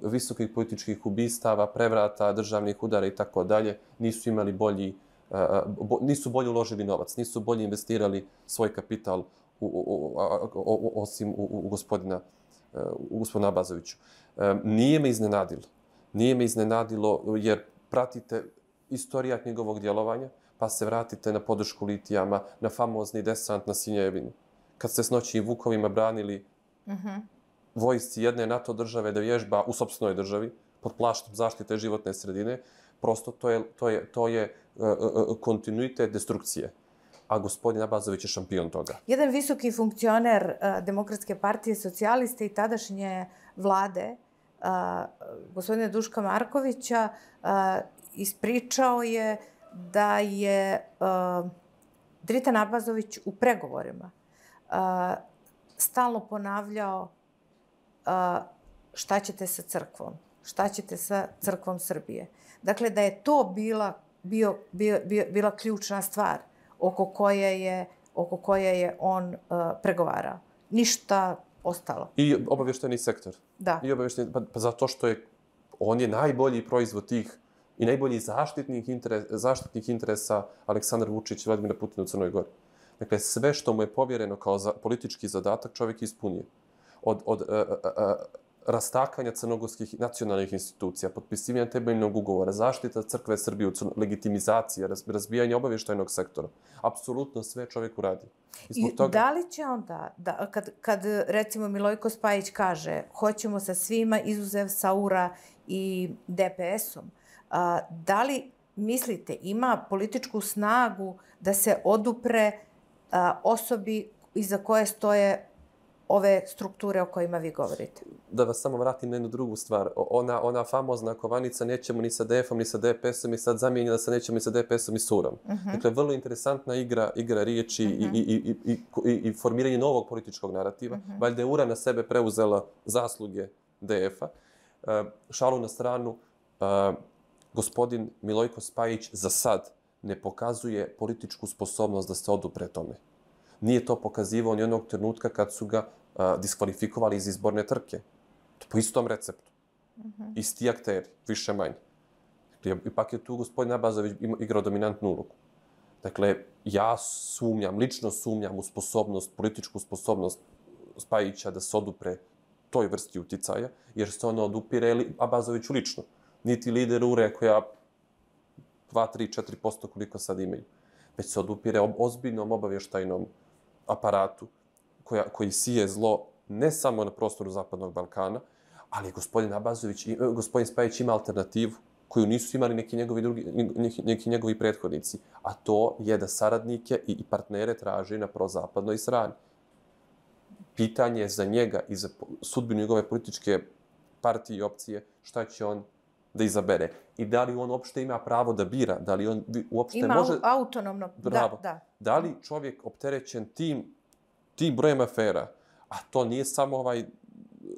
visokih političkih ubistava, prevrata, državnih udara i tako dalje, nisu imali bolji, uh, bo, nisu bolje uložili novac, nisu bolje investirali svoj kapital u, u, u, u, osim u, u gospodina, uh, u gospodina Abazoviću. Um, nije me iznenadilo. Nije me iznenadilo jer pratite istorijat njegovog djelovanja, pa se vratite na podršku litijama, na famozni desant na Sinjevinu. Kad ste s noćnim vukovima branili mm-hmm. vojsci jedne NATO države da vježba u sopstvenoj državi, pod plaštom zaštite životne sredine, prosto to je, to je, to je uh, uh, kontinuitet destrukcije. A gospodin Abazović je šampion toga. Jedan visoki funkcioner uh, Demokratske partije socijaliste i tadašnje vlade, uh, gospodina Duška Markovića, uh, ispričao je da je uh, Dritan Abazović u pregovorima uh, stalno ponavljao uh, šta ćete sa crkvom, šta ćete sa crkvom Srbije. Dakle, da je to bila, bio, bio, bio, bila ključna stvar oko koje je, oko koje je on uh, pregovarao. Ništa ostalo. I obavještajni sektor. Da. I obavještajni, pa, pa zato što je on je najbolji proizvod tih i najbolji zaštitnih, interes, zaštitnih interesa Aleksandar Vučić i Vladimira Putina u Crnoj Gori. Dakle, sve što mu je povjereno kao za, politički zadatak, čovjek je ispunio. Od, od uh, uh, uh, rastakanja crnogorskih nacionalnih institucija, potpisivanja temeljnog ugovora, zaštita crkve Srbije, legitimizacija, razbijanje obavještajnog sektora. Apsolutno sve čovjek uradi. I, I toga... da li će onda, da, kad, kad recimo Milojko Spajić kaže hoćemo sa svima izuzev Saura i D P S-om, a, da li mislite ima političku snagu da se odupre a, osobi iza koje stoje ove strukture o kojima vi govorite? Da vas samo vratim na jednu drugu stvar. Ona, ona famozna kovanica nećemo ni sa D F-om, ni sa D P S-om i sad zamijenila sa nećemo ni sa D P S-om i Surom. Uh-huh. Dakle, vrlo interesantna igra, igra riječi uh-huh. i, i, i, i, i formiranje novog političkog narativa. Uh-huh. Valjda je Ura na sebe preuzela zasluge D F-a. Uh, šalu na stranu, uh, gospodin Milojko Spajić za sad ne pokazuje političku sposobnost da se odupre tome. Nije to pokazivao ni onog trenutka kad su ga a, diskvalifikovali iz izborne trke. To po istom receptu. Mm-hmm. Isti akteri, više manje. Dakle, ipak je tu gospodin Abazović igrao dominantnu ulogu. Dakle, ja sumnjam, lično sumnjam u sposobnost, političku sposobnost Spajića da se odupre toj vrsti uticaja, jer se ono odupire Abazoviću lično. Niti lider Ure koja dva, tri, četiri posto koliko sad imaju. Već se odupire ozbiljnom obavještajnom aparatu koja, koji sije zlo ne samo na prostoru Zapadnog Balkana, ali gospodin Abazović, gospodin Spajić ima alternativu koju nisu imali neki njegovi, drugi, neki, neki njegovi prethodnici. A to je da saradnike i partnere traži na prozapadnoj strani. Pitanje za njega i za sudbinu njegove političke partije i opcije, šta će on da izabere. I da li on uopšte ima pravo da bira, da li on uopšte ima može... Ima autonomno, Bravo. da, da. Da li čovjek opterećen tim, tim brojem afera, a to nije samo ovaj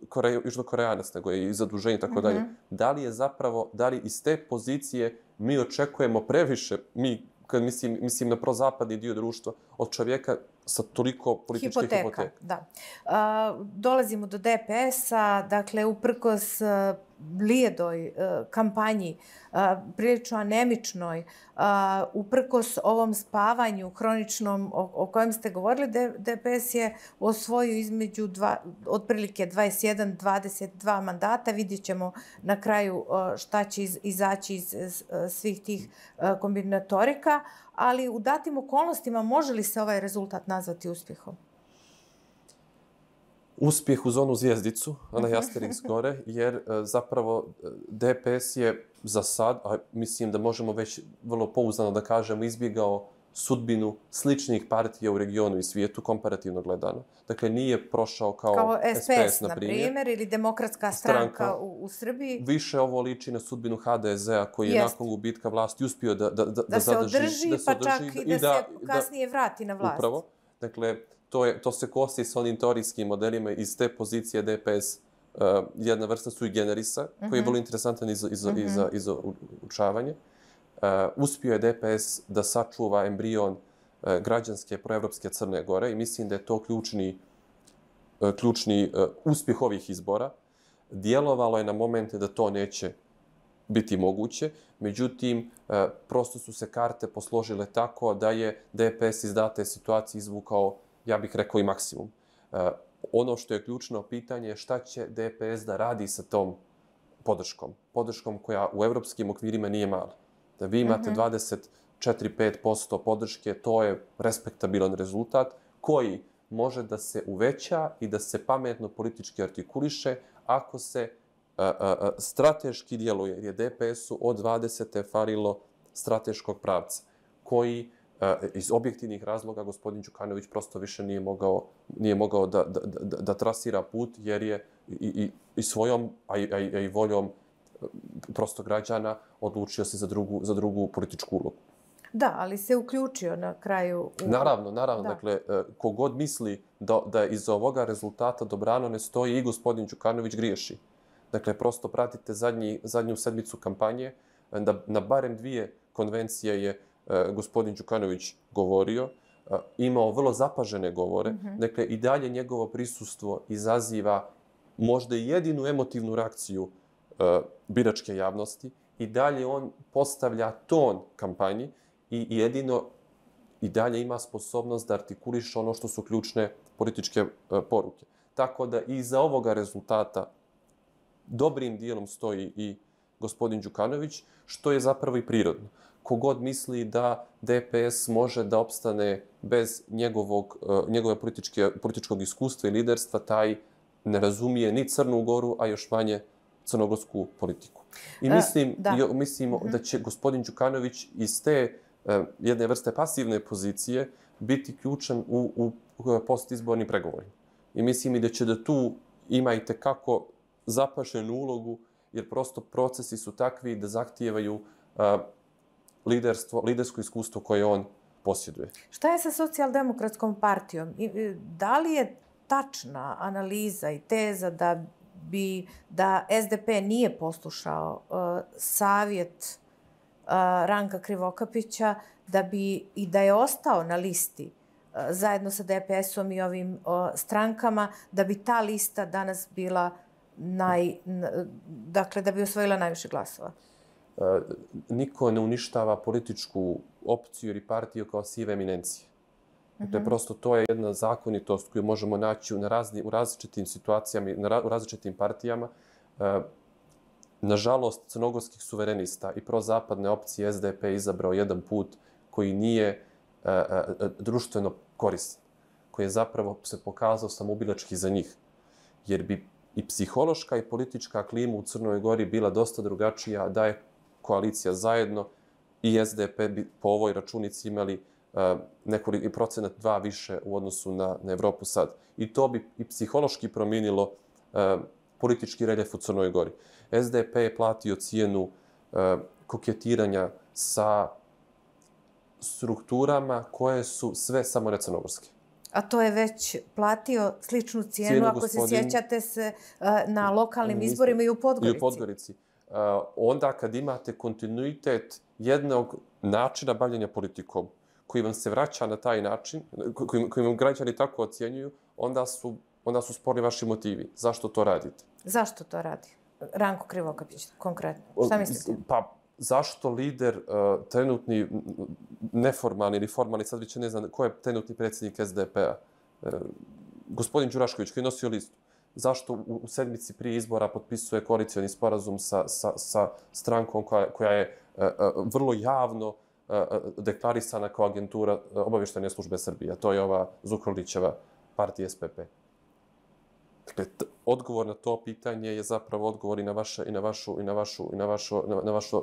Kore, južnokoreanac, nego je i zaduženje i tako dalje. Da li je zapravo, da li iz te pozicije mi očekujemo previše, mi, kad mislim, mislim na prozapadni dio društva, od čovjeka sa toliko političke hipoteka. hipoteka. Da. Uh, dolazimo do D P S-a, dakle, uprkos uh, blijedoj uh, kampanji, uh, prilično anemičnoj, uh, uprkos ovom spavanju hroničnom o, o kojem ste govorili, D P S je osvojio između dva, otprilike dvadeset jedan do dvadeset dva mandata. Vidjet ćemo na kraju uh, šta će iz, izaći iz, iz uh, svih tih uh, kombinatorika, ali u datim okolnostima može li se ovaj rezultat nazvati uspjehom? Uspjeh uz onu zvijezdicu, onaj Asterix gore, jer zapravo D P S je za sad, a mislim da možemo već vrlo pouzdano da kažemo, izbjegao sudbinu sličnih partija u regionu i svijetu, komparativno gledano. Dakle, nije prošao kao, kao S P S, na primjer, ili Demokratska stranka, stranka u, u Srbiji. Više ovo liči na sudbinu H D S-a koji je Jest. nakon gubitka vlasti uspio da, da, da, da, se zadrži, održi, da se pa održi, čak i da, da se kasnije vrati na vlast. Upravo. Dakle, to, je, to se kosi sa onim teorijskim modelima iz te pozicije D P S, uh, jedna vrsta sui generisa, mm -hmm. koji je vrlo interesantan i za, i za, mm -hmm. i za, i za učavanje. Uh, uspio je D P S da sačuva embrion uh, građanske proevropske Crne Gore i mislim da je to ključni, uh, ključni uh, uspjeh ovih izbora. Djelovalo je na momente da to neće biti moguće, međutim, uh, prosto su se karte posložile tako da je D P S iz date situacije izvukao, ja bih rekao, i maksimum. Uh, ono što je ključno pitanje je šta će D P S da radi sa tom podrškom. Podrškom koja u evropskim okvirima nije mala. Da vi imate dvadeset četiri do pet posto podrške, to je respektabilan rezultat koji može da se uveća i da se pametno politički artikuliše ako se a, a, a, strateški djeluje, jer je D P S-u od dvadesete falilo strateškog pravca, koji a, iz objektivnih razloga gospodin Đukanović prosto više nije mogao, nije mogao da, da, da, da trasira put, jer je i, i, i svojom, a i, a i, a i voljom prosto građana odlučio se za drugu, za drugu političku ulogu. Da, ali se uključio na kraju... U... Naravno, naravno. Da. Dakle, kogod misli da, da iz ovoga rezultata dobrano ne stoji i gospodin Đukanović griješi. Dakle, prosto pratite zadnji, zadnju sedmicu kampanje. Da, na barem dvije konvencije je uh, gospodin Đukanović govorio. Uh, imao vrlo zapažene govore. Mm -hmm. Dakle, i dalje njegovo prisustvo izaziva možda i jedinu emotivnu reakciju uh, biračke javnosti. I dalje on postavlja ton kampanji i jedino i dalje ima sposobnost da artikuliše ono što su ključne političke uh, poruke. Tako da iza ovoga rezultata dobrim dijelom stoji i gospodin Đukanović, što je zapravo i prirodno. Kogod misli da D P S može da opstane bez njegovog, uh, njegove političke, političkog iskustva i liderstva, taj ne razumije ni Crnu Goru, a još manje crnogorsku politiku. I mislim, uh, da. Jo, mislimo uh-huh. da će gospodin Đukanović iz te uh, jedne vrste pasivne pozicije biti ključan u, u, u postizbornim pregovorima. I mislim i da će da tu ima i tekako zapašenu ulogu, jer prosto procesi su takvi da zahtijevaju uh, liderstvo, lidersko iskustvo koje on posjeduje. Šta je sa socijaldemokratskom partijom? Da li je tačna analiza i teza da bi da S D P nije poslušao uh, savjet uh, Ranka Krivokapića, da bi i da je ostao na listi uh, zajedno sa D P S-om i ovim uh, strankama, da bi ta lista danas bila naj, dakle, da bi osvojila najviše glasova? Uh, niko ne uništava političku opciju ili partiju kao sive eminencije. Dakle, prosto to je jedna zakonitost koju možemo naći u, razni, u različitim situacijama, na ra, u različitim partijama. E, nažalost, crnogorskih suverenista i prozapadne opcije S D P izabrao jedan put koji nije e, e, društveno koristan, koji je zapravo se pokazao samoubilački za njih. Jer bi i psihološka i politička klima u Crnoj Gori bila dosta drugačija, da je koalicija zajedno i S D P bi po ovoj računici imali uh, nekoliko procenat dva više u odnosu na, na Evropu sad. I to bi i psihološki promijenilo uh, politički reljef u Crnoj Gori. S D P je platio cijenu uh, koketiranja sa strukturama koje su sve samo ne crnogorske. A to je već platio sličnu cijenu, cijenu ako gospodin, se sjećate se, uh, na lokalnim izborima i u Podgorici. I u Podgorici. Uh, onda kad imate kontinuitet jednog načina bavljenja politikom, koji vam se vraća na taj način, koji, koji vam građani tako ocjenjuju, onda su, onda su sporni vaši motivi. Zašto to radite? Zašto to radi? Ranko Krivokapić, konkretno. Šta mislite? Pa, zašto lider, uh, trenutni, neformalni ili formalni, sad već ne znam ko je trenutni predsjednik S D P-a, uh, gospodin Đurašković, koji je nosio listu, zašto u, u sedmici prije izbora potpisuje koalicioni sporazum sa, sa, sa strankom koja, koja je uh, uh, vrlo javno uh, deklarisana kao agentura uh, obavještajne službe Srbije. To je ova Zukorlićeva partija S P P. Dakle, odgovor na to pitanje je zapravo odgovor i na vaše i na vašu i na vašu i na vašu na, na vašu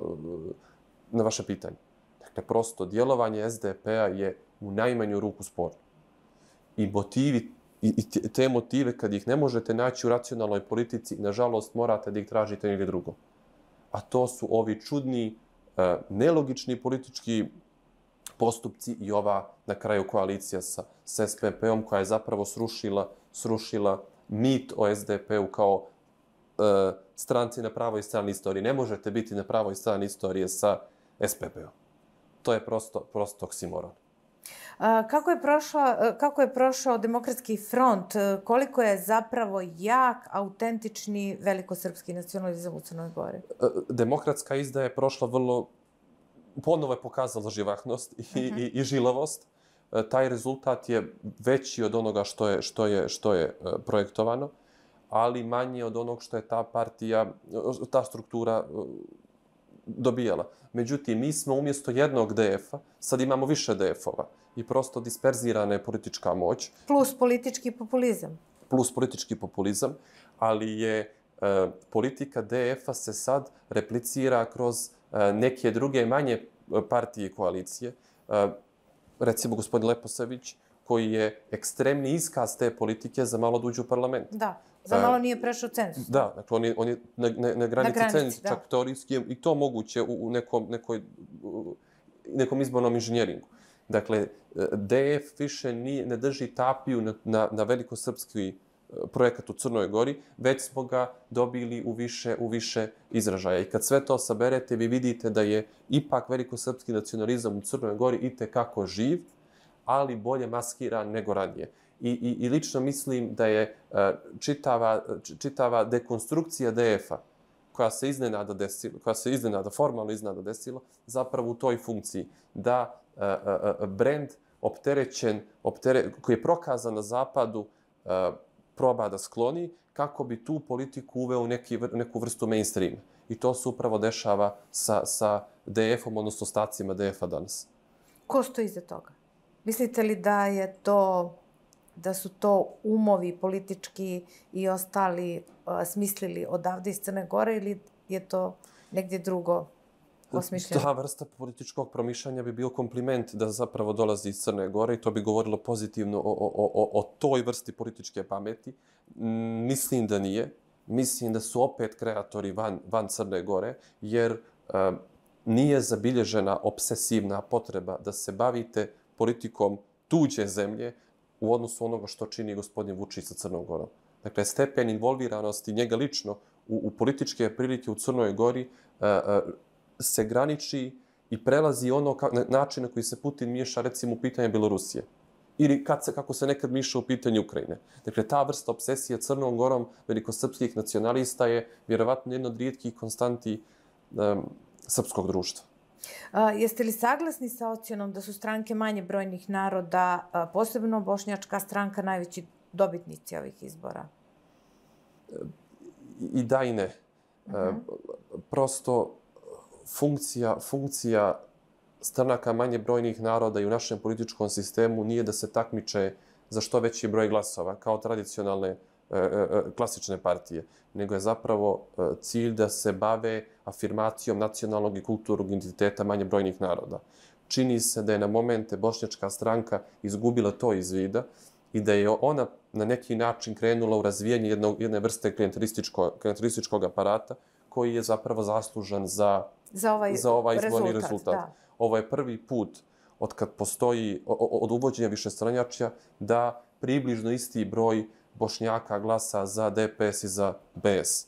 na vaše pitanje. Dakle, prosto djelovanje S D P-a je u najmanju ruku sporno. I motivi i, i te motive kad ih ne možete naći u racionalnoj politici, nažalost morate da ih tražite negdje drugo. A to su ovi čudni, nelogični politički postupci i ova na kraju koalicija sa, sa S P P-om koja je zapravo srušila srušila mit o S D P-u kao uh, stranci na pravoj strani istorije. Ne možete biti na pravoj strani istorije sa S P P-om. To je prosto, prosto oksimoron. A, kako, je prošao, kako je prošao Demokratski front? Koliko je zapravo jak, autentični velikosrpski nacionalizam u Crnoj Gori? Demokratska izdaja je prošla vrlo... Ponovo je pokazala živahnost i, uh-huh. i, i žilavost. Taj rezultat je veći od onoga što je, što je, što je projektovano, ali manji od onog što je ta partija, ta struktura dobijala. Međutim, mi smo umjesto jednog D F-a, sad imamo više D F-ova i prosto disperzirana je politička moć. Plus politički populizam. Plus politički populizam, ali je e, politika D F-a se sad replicira kroz e, neke druge manje partije i koalicije. E, recimo gospodin Leposavić, koji je ekstremni iskaz te politike za malo duđu u parlament. Da, za malo nije prešao cenzus. Da, dakle, on je, on je na, na, na granici, granici cenzusa, čak teorijski i to moguće u, u nekom, nekoj, u nekom izbornom inženjeringu. Dakle, D F više nije, ne drži tapiju na, na, na velikosrpski projekat u Crnoj Gori, već smo ga dobili u više, u više izražaja. I kad sve to saberete, vi vidite da je ipak velikosrpski nacionalizam u Crnoj Gori itekako živ, ali bolje maskiran nego ranije. I, i, i lično mislim da je uh, čitava, čitava dekonstrukcija D F-a koja se iznenada desila, koja se iznenada, formalno iznenada desila, zapravo u toj funkciji da uh, uh, brend opterećen, optere, koji je prokazan na zapadu, uh, proba da skloni kako bi tu politiku uveo u neki, neku vrstu mainstreama. I to se upravo dešava sa, sa D F-om, odnosno ostacima D F-a danas. Ko stoji iza toga? Mislite li da je to, da su to umovi politički i ostali uh, smislili odavde iz Crne Gore ili je to negdje drugo osmišljeno? Ta vrsta političkog promišljanja bi bio kompliment da zapravo dolazi iz Crne Gore i to bi govorilo pozitivno o, o, o, o toj vrsti političke pameti. Mislim da nije. Mislim da su opet kreatori van, van Crne Gore, jer uh, nije zabilježena obsesivna potreba da se bavite politikom tuđe zemlje u odnosu onoga što čini gospodin Vučić sa Crnom Gorom. Dakle, stepen involviranosti njega lično u, u političke prilike u Crnoj Gori uh, uh, se graniči i prelazi ono ka, na, način na koji se Putin miješa recimo u pitanje Belorusije. Ili kad se, kako se nekad miješa u pitanje Ukrajine. Dakle, ta vrsta obsesije Crnom Gorom velikosrpskih nacionalista je vjerovatno jedna od rijetkih konstanti um, srpskog društva. A, jeste li saglasni sa ocjenom da su stranke manje brojnih naroda, a, posebno bošnjačka stranka, najveći dobitnici ovih izbora? I, i da i ne. Uh-huh. E, prosto funkcija, funkcija stranaka manje brojnih naroda i u našem političkom sistemu nije da se takmiče za što veći broj glasova, kao tradicionalne klasične partije, nego je zapravo cilj da se bave afirmacijom nacionalnog i kulturnog identiteta manje brojnih naroda. Čini se da je na momente Bošnjačka stranka izgubila to iz vida i da je ona na neki način krenula u razvijanje jednog, jedne vrste klijentelističkog aparata koji je zapravo zaslužan za, za ovaj, za ovaj izborni rezultat. rezultat. Da. Ovo je prvi put od kad postoji, od uvođenja višestranjačja, da približno isti broj Bošnjaka glasa za D P S i za B S.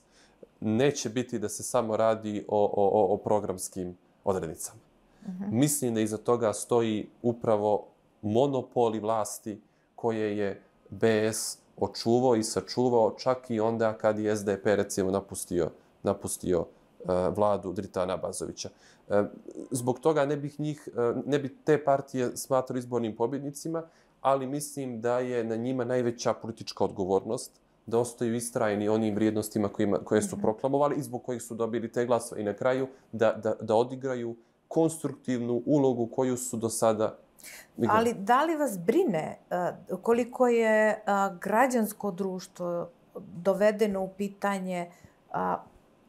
Neće biti da se samo radi o, o, o programskim odrednicama. Uh-huh. Mislim da iza toga stoji upravo monopoli vlasti koje je B S očuvao i sačuvao čak i onda kad je S D P recimo napustio, napustio uh, vladu Dritana Abazovića. Uh, zbog toga ne bih njih, uh, ne bi te partije smatrali izbornim pobjednicima, ali mislim da je na njima najveća politička odgovornost da ostaju istrajni onim vrijednostima kojima, koje su proklamovali i zbog kojih su dobili te glasove. I na kraju da, da, da odigraju konstruktivnu ulogu koju su do sada igrali. Ali da li vas brine uh, koliko je uh, građansko društvo dovedeno u pitanje uh,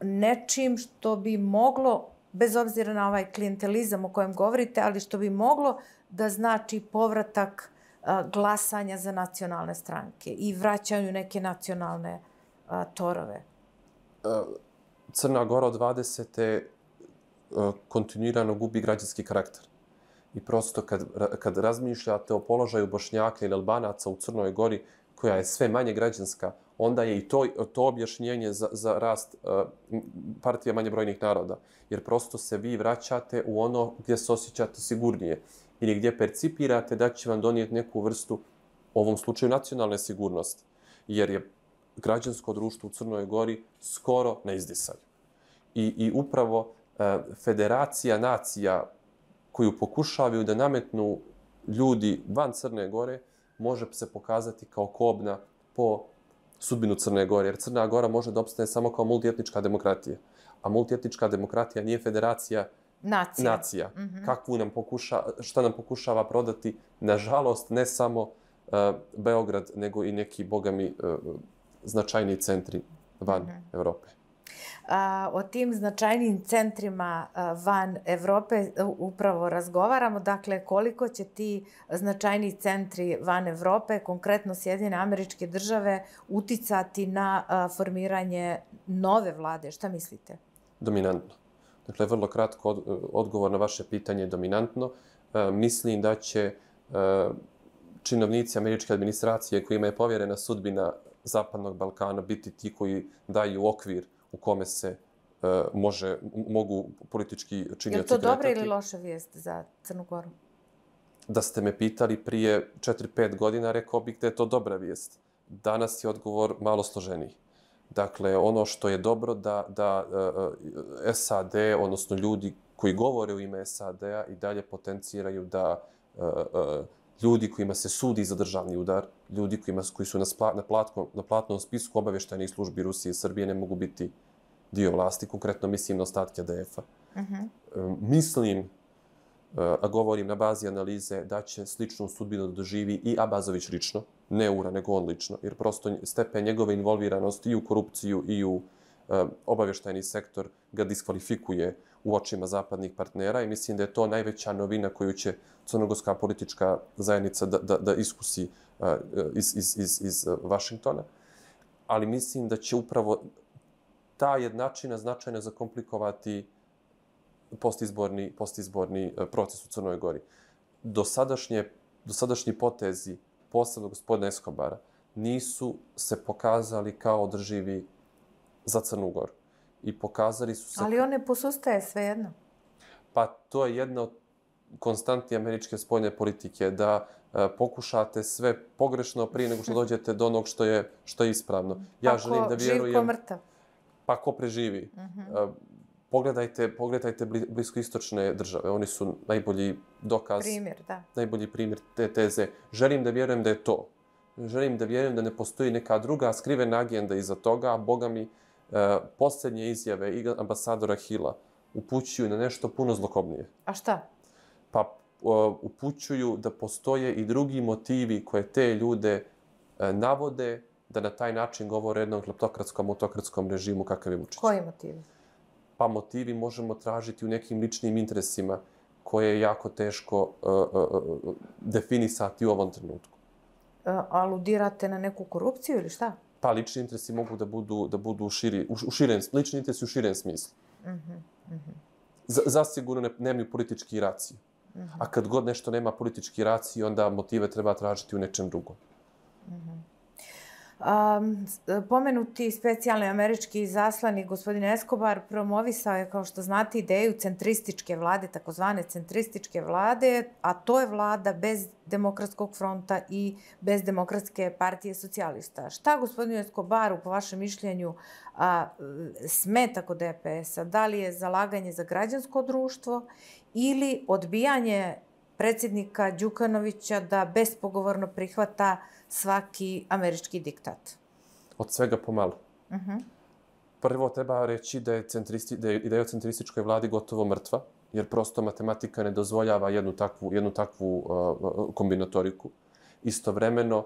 nečim što bi moglo, bez obzira na ovaj klijentelizam o kojem govorite, ali što bi moglo da znači povratak glasanja za nacionalne stranke i vraćanju neke nacionalne a, torove? Crna Gora od dvadesete kontinuirano gubi građanski karakter. I prosto kad, kad razmišljate o položaju Bošnjaka ili Albanaca u Crnoj Gori, koja je sve manje građanska, onda je i to, to objašnjenje za, za rast uh, partije manje brojnih naroda. Jer prosto se vi vraćate u ono gdje se osjećate sigurnije ili gdje percipirate da će vam donijeti neku vrstu, u ovom slučaju, nacionalne sigurnosti. Jer je građansko društvo u Crnoj Gori skoro na izdisaju. I, i upravo uh, federacija nacija koju pokušavaju da nametnu ljudi van Crne Gore može se pokazati kao kobna po sudbinu Crne Gore. Jer Crna Gora može da opstane samo kao multietnička demokratija. A multietnička demokratija nije federacija nacija. nacija. Mm-hmm. Kakvu nam pokuša, šta nam pokušava prodati, nažalost, ne samo uh, Beograd, nego i neki, bogami, uh, značajni centri van mm-hmm. Evrope. A, o tim značajnim centrima a, van Evrope upravo razgovaramo. Dakle, koliko će ti značajni centri van Evrope, konkretno Sjedinjene Američke Države, uticati na a, formiranje nove vlade? Šta mislite? Dominantno. Dakle, vrlo kratko od, odgovor na vaše pitanje je dominantno. E, mislim da će e, činovnici američke administracije kojima je povjerena sudbina Zapadnog Balkana biti ti koji daju okvir u kome se uh, može, mogu politički činioci kretati. Je to dobra ili loša vijest za Crnu Goru? Da ste me pitali prije četiri pet godina, rekao bih da je to dobra vijest. Danas je odgovor malo složeniji. Dakle, ono što je dobro da, da uh, S A D, odnosno ljudi koji govore u ime S A D-a i dalje potenciraju da uh, uh, ljudi kojima se sudi za državni udar, ljudi kojima, koji su na, spla, na, platkom, na platnom spisku obavještajnih službi Rusije i Srbije ne mogu biti dio vlasti, konkretno mislim na ostatke D F-a. Uh-huh. E, mislim, a govorim na bazi analize, da će sličnu sudbinu doživi i Abazović lično, ne Ura, nego on lično, jer prosto stepen njegove involviranosti i u korupciju i u e, obavještajni sektor ga diskvalifikuje u očima zapadnih partnera i mislim da je to najveća novina koju će crnogorska politička zajednica da, da, da iskusi uh, iz, iz, iz, iz Vašingtona. Ali mislim da će upravo ta jednačina značajno zakomplikovati postizborni, postizborni proces u Crnoj Gori. Dosadašnje, dosadašnji potezi, posebno gospodina Eskobara, nisu se pokazali kao održivi za Crnu Goru. I pokazali su se... Ali on ne posustaje svejedno. Pa to je jedna od konstanti američke spoljne politike, da e, pokušate sve pogrešno prije nego što dođete do onog što je, što je ispravno. Ja pa želim da vjerujem... Živ ko mrtav. Pa ko preživi. Uh-huh. E, pogledajte, pogledajte bliskoistočne države. Oni su najbolji dokaz... Primjer, da. Najbolji primjer te teze. Želim da vjerujem da je to. Želim da vjerujem da ne postoji neka druga skrivena agenda iza toga, a Boga mi e, posljednje izjave i ambasadora Hilla upućuju na nešto puno zlokobnije. A šta? Pa upućuju da postoje i drugi motivi koje te ljude navode da na taj način govore o jednom kleptokratskom, autokratskom režimu kakav je Vučić. Koji motivi? Pa motivi možemo tražiti u nekim ličnim interesima koje je jako teško uh, uh, definisati u ovom trenutku. Uh, aludirate na neku korupciju ili šta? Pa lični interesi mogu da budu, da budu širi, u, u širem, lični interesi u širem smislu. Mm-hmm. Mm-hmm. Z, zasigurno ne, nemaju politički raciju. Mm-hmm. A kad god nešto nema politički raciju, onda motive treba tražiti u nečem drugom. Mm-hmm. Um, pomenuti specijalni američki izaslanik gospodin Escobar promovisao je, kao što znate, ideju centrističke vlade, takozvane centrističke vlade, a to je vlada bez Demokratskog fronta i bez Demokratske partije socijalista. Šta gospodinu Escobaru, po vašem mišljenju, a, smeta kod D P S-a? Da li je zalaganje za građansko društvo ili odbijanje predsjednika Đukanovića da bespogovorno prihvata svaki američki diktat? Od svega pomalo. Uh-huh. Prvo treba reći da je, centristi, da je ideja o centrističkoj vladi gotovo mrtva, jer prosto matematika ne dozvoljava jednu takvu, jednu takvu uh, kombinatoriku. Istovremeno, uh,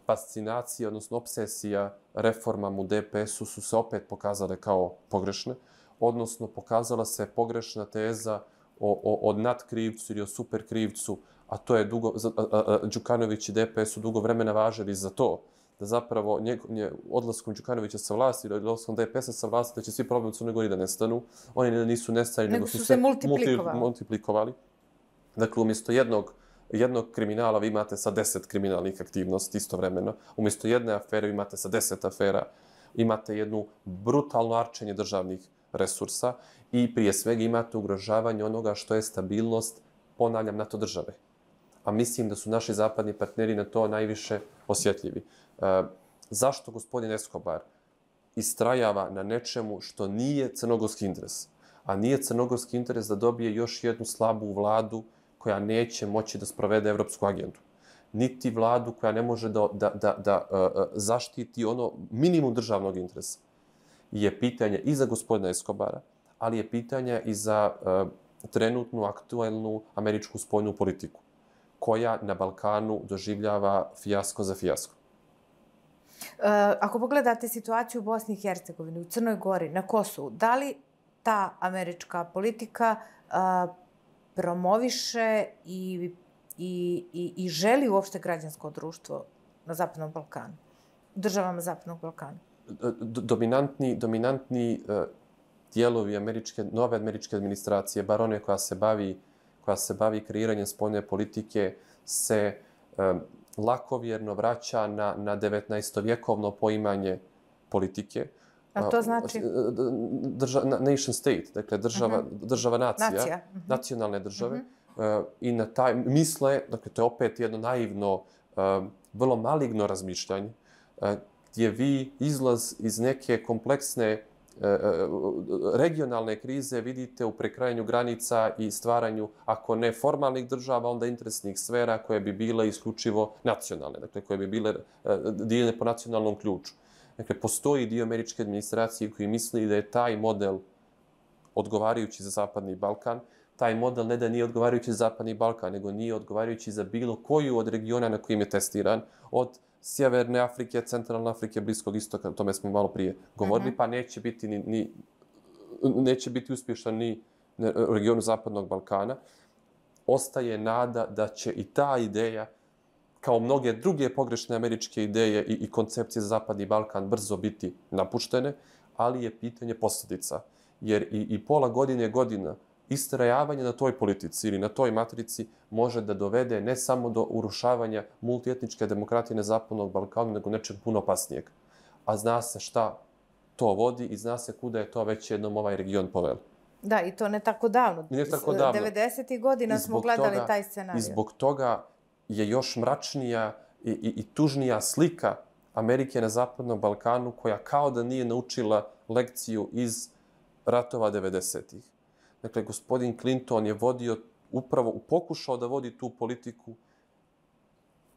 fascinacija, odnosno obsesija reformama u D P S-u su se opet pokazale kao pogrešne, odnosno pokazala se pogrešna teza o, o, o nadkrivcu ili o superkrivcu, a to je dugo, a, a, a, Đukanović i D P S su dugo vremena važili za to, da zapravo nje, nje, odlaskom Đukanovića sa vlasti ili odlaskom D P S-a sa vlasti, da će svi problemi u Crnoj Gori da nestanu. Oni nisu nestali, nego, nego su se multiplikovali. multiplikovali. Dakle, umjesto jednog, jednog kriminala vi imate sa deset kriminalnih aktivnosti istovremeno. Umjesto jedne afere vi imate sa deset afera. Imate jednu brutalno arčenje državnih resursa i prije svega imate ugrožavanje onoga što je stabilnost, ponavljam, NATO države. A mislim da su naši zapadni partneri na to najviše osjetljivi. E, zašto gospodin Escobar istrajava na nečemu što nije crnogorski interes? A nije crnogorski interes da dobije još jednu slabu vladu koja neće moći da sprovede evropsku agendu. Niti vladu koja ne može da, da, da, da uh, zaštiti ono minimum državnog interesa. Je pitanje i za gospodina Escobara, ali je pitanje i za uh, trenutnu, aktualnu američku spoljnu politiku, koja na Balkanu doživljava fijasko za fijasko. Uh, ako pogledate situaciju u Bosni i Hercegovini, u Crnoj Gori, na Kosovu, da li ta američka politika uh, promoviše i, i, i, i želi uopšte građansko društvo na Zapadnom Balkanu, u državama Zapadnog Balkana? Dominantni, dominantni uh, dijelovi američke, nove američke administracije, bar one koja se bavi, koja se bavi kreiranjem spoljne politike, se um, lakovjerno vraća na, na devetnaestovjekovno poimanje politike. A to znači? Drža, nation state, dakle država, uh-huh. država nacija, Nacija. Uh-huh. nacionalne države. Uh-huh. Uh, I na taj, misle, dakle to je opet jedno naivno, uh, vrlo maligno razmišljanje, uh, gdje vi izlaz iz neke kompleksne regionalne krize vidite u prekrajanju granica i stvaranju, ako ne formalnih država, onda interesnih sfera koje bi bile isključivo nacionalne, dakle koje bi bile dijeljene po nacionalnom ključu. Dakle, postoji dio američke administracije koji misli da je taj model odgovarajući za Zapadni Balkan. Taj model ne da nije odgovarajući za Zapadni Balkan, nego nije odgovarajući za bilo koju od regiona na kojim je testiran, od Sjeverne Afrike, Centralne Afrike, Bliskog istoka, o tome smo malo prije govorili, uh-huh. pa neće biti, ni, ni, neće biti uspješan ni u regionu Zapadnog Balkana. Ostaje nada da će i ta ideja, kao mnoge druge pogrešne američke ideje i, i koncepcije za Zapadni Balkan, brzo biti napuštene, ali je pitanje posljedica. Jer i, i pola godine godina istrajavanje na toj politici ili na toj matrici može da dovede ne samo do urušavanja multietničke demokratije na Zapadnog Balkana, nego nečeg puno opasnijeg. A zna se šta to vodi i zna se kuda je to već jednom ovaj region poveli. Da, i to ne tako davno. Ne tako davno. devedesetih godina smo gledali toga, taj scenarij. I zbog toga je još mračnija i, i, i tužnija slika Amerike na Zapadnom Balkanu, koja kao da nije naučila lekciju iz ratova devedesetih. Dakle, gospodin Clinton je vodio, upravo pokušao da vodi tu politiku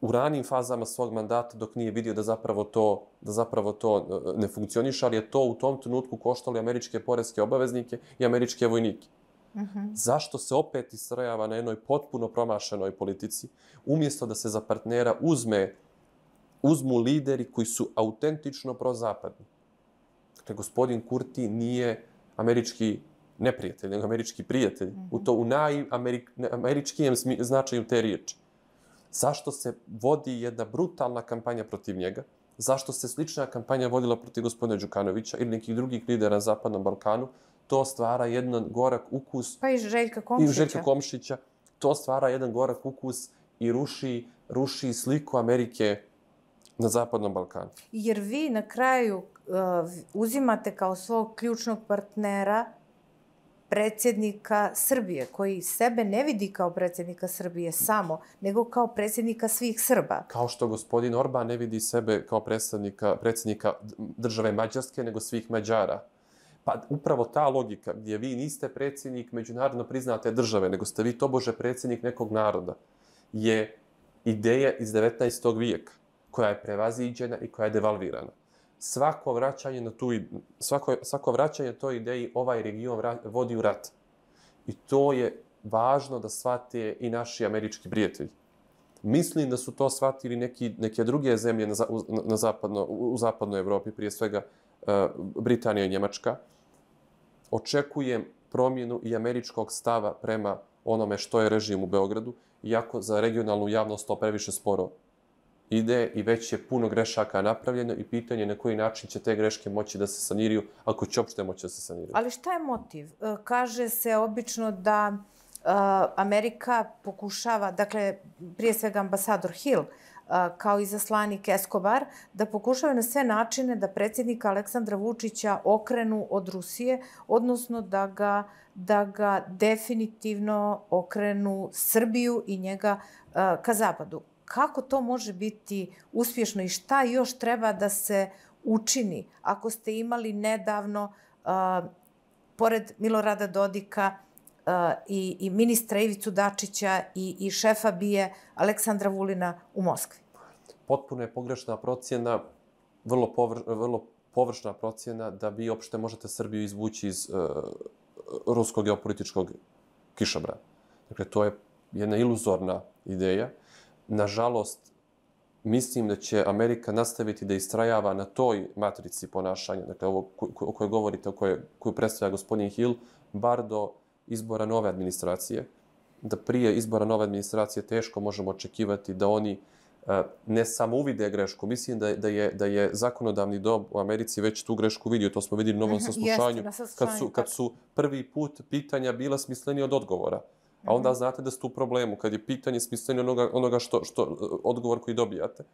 u ranim fazama svog mandata, dok nije vidio da zapravo to, da zapravo to ne funkcioniše, ali je to u tom trenutku koštalo američke poreske obaveznike i američke vojnike. Uh-huh. Zašto se opet istrajava na jednoj potpuno promašenoj politici, umjesto da se za partnera uzme uzmu lideri koji su autentično prozapadni. Dakle, gospodin Kurti nije američki neprijatelj, nego američki prijatelj. Mm-hmm. U to u najameričkijem značaju te riječi. Zašto se vodi jedna brutalna kampanja protiv njega? Zašto se slična kampanja vodila protiv gospodina Đukanovića ili nekih drugih lidera na Zapadnom Balkanu? To stvara jedan gorak ukus. Pa i Željka Komšića. I Željka Komšića. To stvara jedan gorak ukus i ruši, ruši sliku Amerike na Zapadnom Balkanu. Jer vi na kraju uh, uzimate kao svog ključnog partnera predsjednika Srbije, koji sebe ne vidi kao predsjednika Srbije samo, nego kao predsjednika svih Srba. Kao što gospodin Orban ne vidi sebe kao predsjednika, predsjednika države Mađarske, nego svih Mađara. Pa upravo ta logika gdje vi niste predsjednik međunarodno priznate države, nego ste vi tobože predsjednik nekog naroda, je ideja iz devetnaestog vijeka, koja je prevaziđena i koja je devalvirana. Svako vraćanje na tu svako svako vraćanje toj ideji ovaj region vra, vodi u rat. I to je važno da shvate i naši američki prijatelji. Mislim da su to shvatili neki neke druge zemlje na, na, na zapadno u zapadnoj Evropi, prije svega uh, Britanija i Njemačka. Očekujem promjenu i američkog stava prema onome što je režim u Beogradu, iako za regionalnu javnost to previše sporo ide i već je puno grešaka napravljeno i pitanje na koji način će te greške moći da se saniraju, ako će uopšte moći da se saniraju. Ali šta je motiv? Kaže se obično da uh, Amerika pokušava, dakle, prije svega ambasador Hill, uh, kao i zaslanik Escobar, da pokušava na sve načine da predsjednika Aleksandra Vučića okrenu od Rusije, odnosno da ga, da ga definitivno okrenu Srbiju i njega uh, ka zapadu. Kako to može biti uspješno i šta još treba da se učini ako ste imali nedavno, uh, pored Milorada Dodika uh, i, i ministra Ivicu Dačića i, i šefa B I A Aleksandra Vulina u Moskvi? Potpuno je pogrešna procjena, vrlo, povr, vrlo površna procjena da vi uopšte možete Srbiju izvući iz uh, ruskog geopolitičkog kišobrana. Dakle, to je jedna iluzorna ideja. Nažalost, mislim da će Amerika nastaviti da istrajava na toj matrici ponašanja, dakle ovo o kojoj govorite, o kojoj, koju predstavlja gospodin Hill, bar do izbora nove administracije. Da prije izbora nove administracije teško možemo očekivati da oni uh, ne samo uvide grešku. Mislim da, da, je, da je zakonodavni dom u Americi već tu grešku vidio. To smo vidjeli u novom saslušanju. Kad su, kad su prvi put pitanja bila smislenija od odgovora. A onda znate da ste u problemu kad je pitanje smisleno onoga, onoga što, što, odgovor koji dobijate.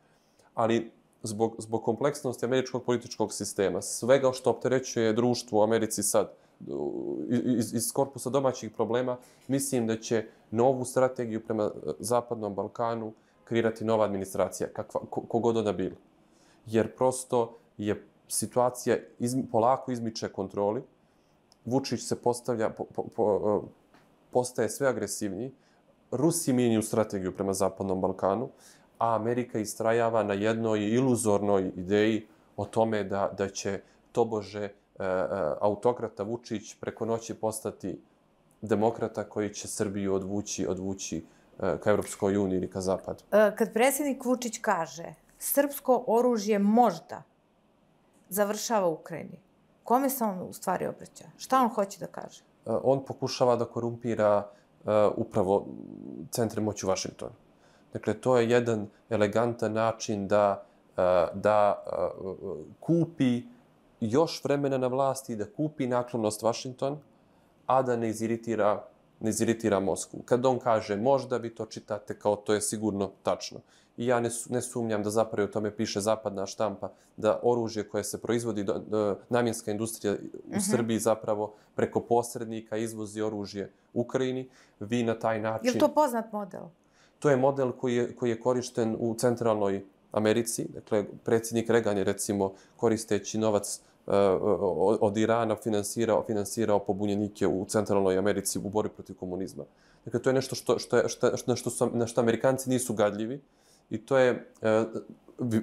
Ali zbog, zbog kompleksnosti američkog političkog sistema, svega što opterećuje društvo u Americi sad, iz, iz korpusa domaćih problema, mislim da će novu strategiju prema Zapadnom Balkanu kreirati nova administracija, kakva, kogod ona bila. Jer prosto je situacija iz, polako izmiče kontroli. Vučić se postavlja... Po, po, po, postaje sve agresivniji, Rusi mijenjaju strategiju prema Zapadnom Balkanu, a Amerika istrajava na jednoj iluzornoj ideji o tome da, da će tobože e, autokrata Vučić preko noći postati demokrata koji će Srbiju odvući, odvući e, ka Evropskoj uniji ili ka Zapadu. Kad predsjednik Vučić kaže srpsko oružje možda završava u Ukrajini, kome se on u stvari obraća? Šta on hoće da kaže? On pokušava da korumpira uh, upravo centre moći u Vašingtonu. Dakle, to je jedan elegantan način da, uh, da uh, kupi još vremena na vlasti, da kupi naklonost Vašington, a da ne iziritira, ne iziritira Moskvu. Kad on kaže možda, vi to čitate kao to je sigurno tačno. I ja ne, ne sumnjam da zapravo o tome piše zapadna štampa, da oružje koje se proizvodi, do, do, namjenska industrija u uh-huh. Srbiji zapravo preko posrednika izvozi oružje Ukrajini. Vi na taj način... Je li to poznat model? To je model koji je, koji je korišten u centralnoj Americi. Dakle, predsjednik Reagan je recimo koristeći novac uh, od Irana finansirao, finansirao pobunjenike u centralnoj Americi u borbi protiv komunizma. Dakle, to je nešto što, što, je, što, što, što su, na što Amerikanci nisu gadljivi. I to je, e,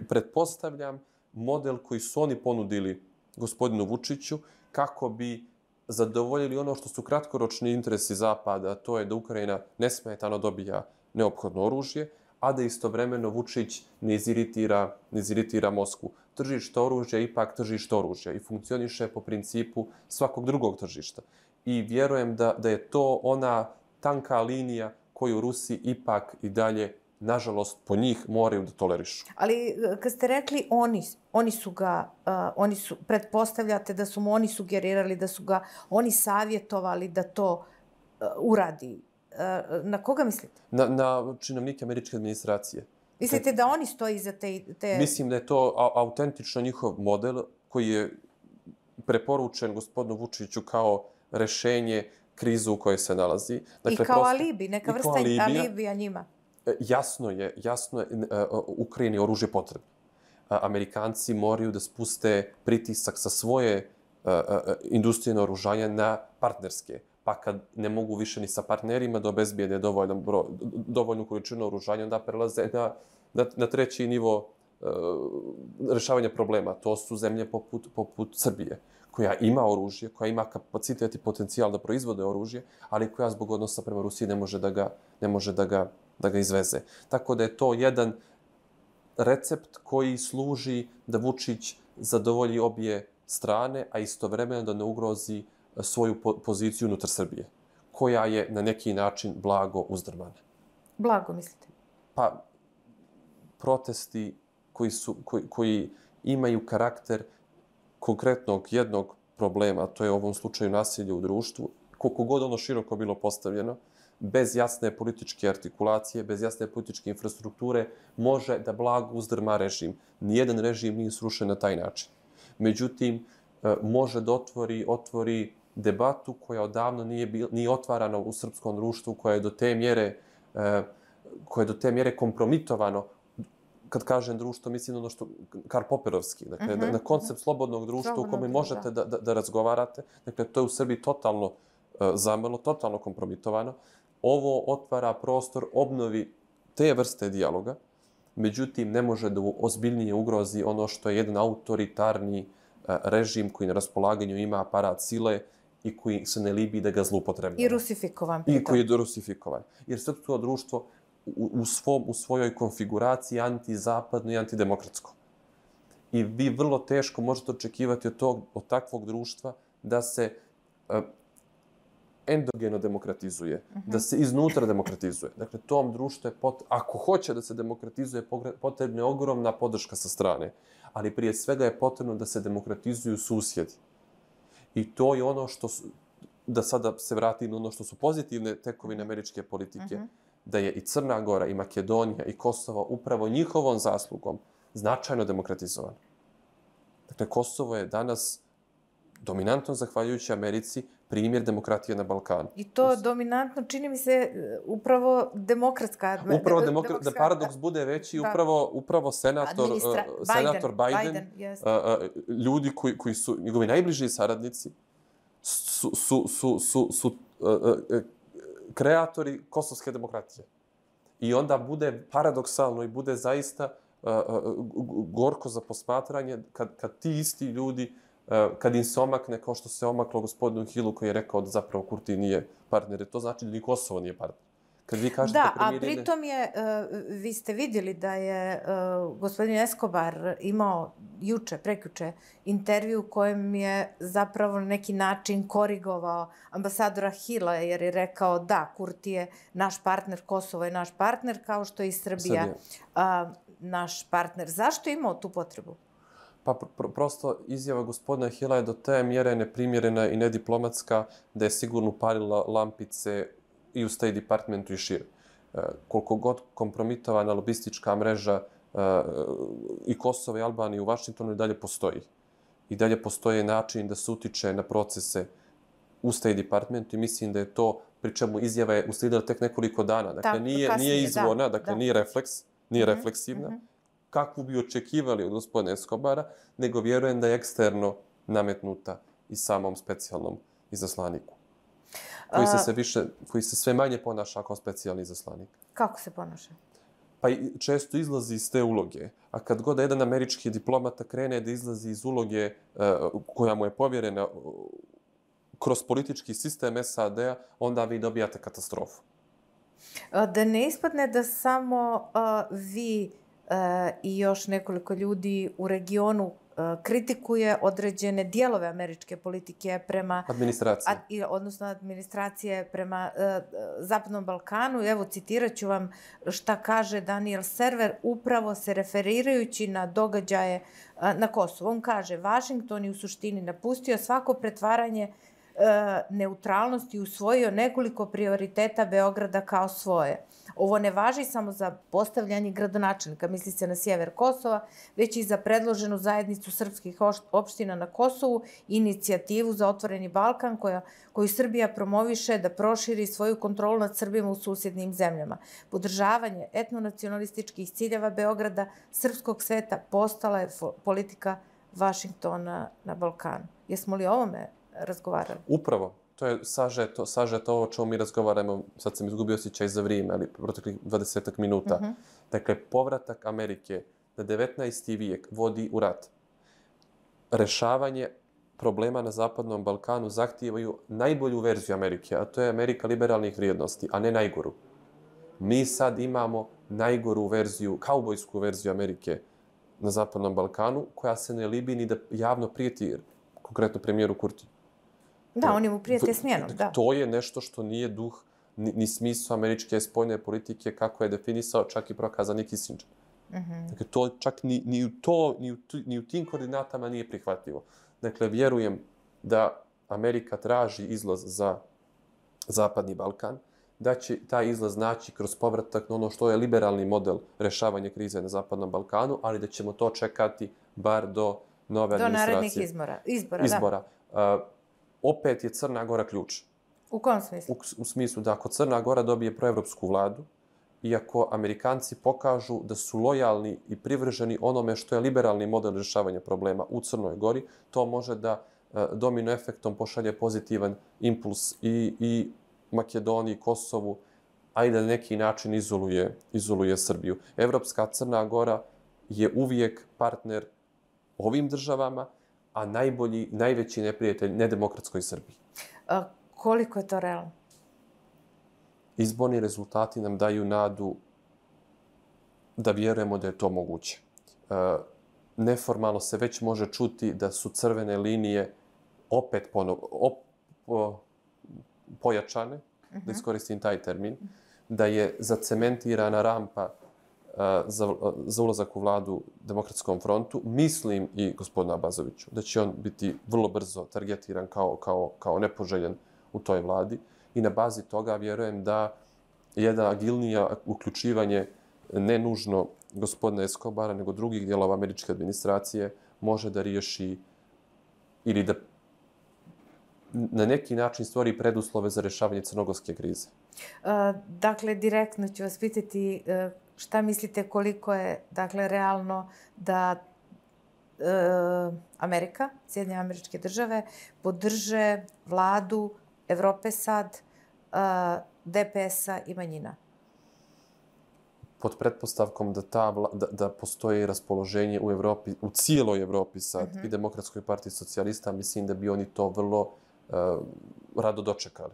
pretpostavljam, model koji su oni ponudili gospodinu Vučiću kako bi zadovoljili ono što su kratkoročni interesi Zapada, to je da Ukrajina nesmetano dobija neophodno oružje, a da istovremeno Vučić ne iziritira, ne iziritira Moskvu. Tržište oružja je ipak tržište oružja i funkcioniše po principu svakog drugog tržišta. I vjerujem da, da je to ona tanka linija koju Rusi ipak i dalje, nažalost, po njih moraju da tolerišu. Ali kad ste rekli oni, oni su ga, uh, oni su, pretpostavljate da su mu oni sugerirali, da su ga oni savjetovali da to uh, uradi. Uh, na koga mislite? Na, na činovnike američke administracije. Mislite da oni stoji iza te, te... Mislim da je to a, autentično njihov model koji je preporučen gospodinu Vučiću kao rešenje krizu u kojoj se nalazi. Dakle, I kao prosto, alibi, neka vrsta alibija, alibija njima. Jasno je, jasno je, Ukrajini oružje potrebno. Amerikanci moraju da spuste pritisak sa svoje industrije naoružanja na partnerske. Pa kad ne mogu više ni sa partnerima da obezbijede dovoljnu, dovoljnu količinu oružanja, onda prelaze na, na, na treći nivo uh, rešavanja problema. To su zemlje poput, poput Srbije, koja ima oružje, koja ima kapacitet i potencijal da proizvode oružje, ali koja zbog odnosa prema Rusiji ne može da ga, ne može da ga, da ga izveze. Tako da je to jedan recept koji služi da Vučić zadovolji obje strane, a istovremeno da ne ugrozi svoju poziciju unutar Srbije, koja je na neki način blago uzdrmana. Blago, mislite? Pa, protesti koji, su, koji, koji imaju karakter konkretnog jednog problema, to je u ovom slučaju nasilje u društvu, koliko god ono široko bilo postavljeno, bez jasne političke artikulacije, bez jasne političke infrastrukture, može da blago uzdrma režim. Nijedan režim nije srušen na taj način. Međutim, može da otvori, otvori debatu koja odavno nije, bil, nije otvarana u srpskom društvu, koja je do te mjere, koja je do te mjere kompromitovano. Kad kažem društvo, mislim ono što Karl Poperovski, dakle, uh-huh. na koncept slobodnog društva Slobodno, u kome možete da, da, da razgovarate. Dakle, to je u Srbiji totalno uh, zamrlo, totalno kompromitovano. Ovo otvara prostor obnovi te vrste dijaloga, međutim, ne može da ozbiljnije ugrozi ono što je jedan autoritarni uh, režim koji na raspolaganju ima aparat sile i koji se ne libi da ga zloupotrebljava. I rusifikovan. I koji je rusifikovan. Jer srpsko društvo U, u, svom, u svojoj konfiguraciji antizapadno i antidemokratsko. I vi vrlo teško možete očekivati od, tog, od takvog društva da se uh, endogeno demokratizuje, uh-huh. da se iznutra demokratizuje. Dakle, tom društvu je, pot, ako hoće da se demokratizuje, potrebna je ogromna podrška sa strane. Ali prije svega je potrebno da se demokratizuju susjedi. I to je ono što su, da sada se vratim na ono što su pozitivne tekovine američke politike, uh-huh. da je i Crna Gora, i Makedonija, i Kosovo upravo njihovom zaslugom značajno demokratizovano. Dakle, Kosovo je danas dominantno, zahvaljujući Americi, primjer demokratije na Balkanu. I to dominantno, čini mi se, upravo demokratska... Upravo demokra... da paradoks bude veći, da. upravo, upravo senator, Administra... uh, senator Biden, Biden yes. uh, uh, ljudi koji, koji su njegovi najbliži saradnici, su, su, su, su, su uh, uh, kreatori kosovske demokratije. I onda bude paradoksalno i bude zaista uh, uh, gorko za posmatranje kad, kad ti isti ljudi, uh, kad im se omakne kao što se omaklo gospodinu Hillu koji je rekao da zapravo Kurti nije partner. To znači da ni Kosovo nije partner. Kad vi kažete da, premirine... a pritom je, uh, vi ste vidjeli da je uh, gospodin Escobar imao juče, prekjuče, intervju u kojem je zapravo na neki način korigovao ambasadora Hilla, jer je rekao da, Kurti je naš partner, Kosovo je naš partner, kao što je i Srbija, Srbija. Uh, naš partner. Zašto je imao tu potrebu? Pa pr- prosto izjava gospodina Hilla je do te mjere neprimjerena i nediplomatska da je sigurno palila lampice i u State Departmentu i šire. E, koliko god kompromitovana lobistička mreža e, i Kosova i Albanije u Vašingtonu i dalje postoji. I dalje postoje način da se utiče na procese u State Departmentu i mislim da je to, pri čemu izjava je uslijedila tek nekoliko dana. Dakle, da, nije, kasnije, nije izvorna, da, dakle, da. nije refleks, nije mm-hmm, refleksivna. Mm-hmm. Kakvu bi očekivali od gospodina Escobara, nego vjerujem da je eksterno nametnuta i samom specijalnom izaslaniku. Koji se, sve više, koji se sve manje ponaša kao specijalni izaslanik. Kako se ponaša? Pa često izlazi iz te uloge. A kad god jedan američki diplomata krene da izlazi iz uloge uh, koja mu je povjerena uh, kroz politički sistem S A D-a, onda vi dobijate katastrofu. Da ne ispadne da samo vi i još nekoliko ljudi u regionu kritikuje određene dijelove američke politike prema... Administracije. Ad, odnosno administracije prema uh, Zapadnom Balkanu. Evo, citirat ću vam šta kaže Daniel Server, upravo se referirajući na događaje uh, na Kosovu. On kaže, Vašington je u suštini napustio svako pretvaranje uh, neutralnosti i usvojio nekoliko prioriteta Beograda kao svoje. Ovo ne važi samo za postavljanje gradonačelnika, misli se na sjever Kosova, već i za predloženu zajednicu srpskih opština na Kosovu, inicijativu za otvoreni Balkan koja, koju Srbija promoviše da proširi svoju kontrolu nad Srbima u susjednim zemljama. Podržavanje etnonacionalističkih ciljeva Beograda, srpskog sveta, postala je politika Vašingtona na Balkanu. Jesmo li o ovome razgovarali? Upravo. To je sažeto, sažeto ovo o čemu mi razgovaramo, sad sam izgubio osjećaj za vrijeme, ali proteklih dvadesetak minuta. Uh-huh. Dakle, povratak Amerike na devetnaesti vijek vodi u rat. Rešavanje problema na Zapadnom Balkanu zahtijevaju najbolju verziju Amerike, a to je Amerika liberalnih vrijednosti, a ne najgoru. Mi sad imamo najgoru verziju, kaubojsku verziju Amerike na Zapadnom Balkanu, koja se ne libi ni da javno prijeti, konkretno premijeru Kurtiju. Da, oni mu prijete smjenom, da. To je nešto što nije duh ni, ni smisao američke spoljne politike kako je definisao čak i prokazani Kissinger. Mm-hmm. Dakle, to čak ni, ni, u to, ni, u, ni u tim koordinatama nije prihvatljivo. Dakle, vjerujem da Amerika traži izlaz za Zapadni Balkan, da će taj izlaz naći kroz povratak na ono što je liberalni model rešavanja krize na Zapadnom Balkanu, ali da ćemo to čekati bar do nove do administracije. Do narednih izbora. Izbora, izbora. Da. Uh, opet je Crna Gora ključ. U kom smislu? U, u smislu da ako Crna Gora dobije proevropsku vladu i ako Amerikanci pokažu da su lojalni i privrženi onome što je liberalni model rješavanja problema u Crnoj Gori, to može da uh, domino efektom pošalje pozitivan impuls i, i Makedoniji, Kosovu, a i da na neki način izoluje, izoluje Srbiju. Evropska Crna Gora je uvijek partner ovim državama, a najbolji, najveći neprijatelj nedemokratskoj Srbiji. A koliko je to realno? Izborni rezultati nam daju nadu da vjerujemo da je to moguće. E, neformalno se već može čuti da su crvene linije opet ponov, op, po, pojačane, uh-huh. da iskoristim taj termin, da je zacementirana rampa Za, za ulazak u vladu Demokratskom frontu. Mislim i gospodina Abazoviću da će on biti vrlo brzo targetiran kao, kao, kao nepoželjen u toj vladi i na bazi toga vjerujem da jedna agilnija uključivanje ne nužno gospodina Escobara nego drugih dijelova američke administracije može da riješi ili da na neki način stvori preduslove za rješavanje crnogorske krize. Uh, dakle, direktno ću vas pitati uh, šta mislite koliko je dakle, realno da uh, Amerika, Sjedinjene Američke Države, podrže vladu Evrope sad, uh, D P S-a i manjina? Pod pretpostavkom da, ta vla, da, da postoji raspoloženje u Evropi, u cijeloj Evropi sad mm-hmm. i Demokratskoj partiji socijalista, mislim da bi oni to vrlo uh, rado dočekali.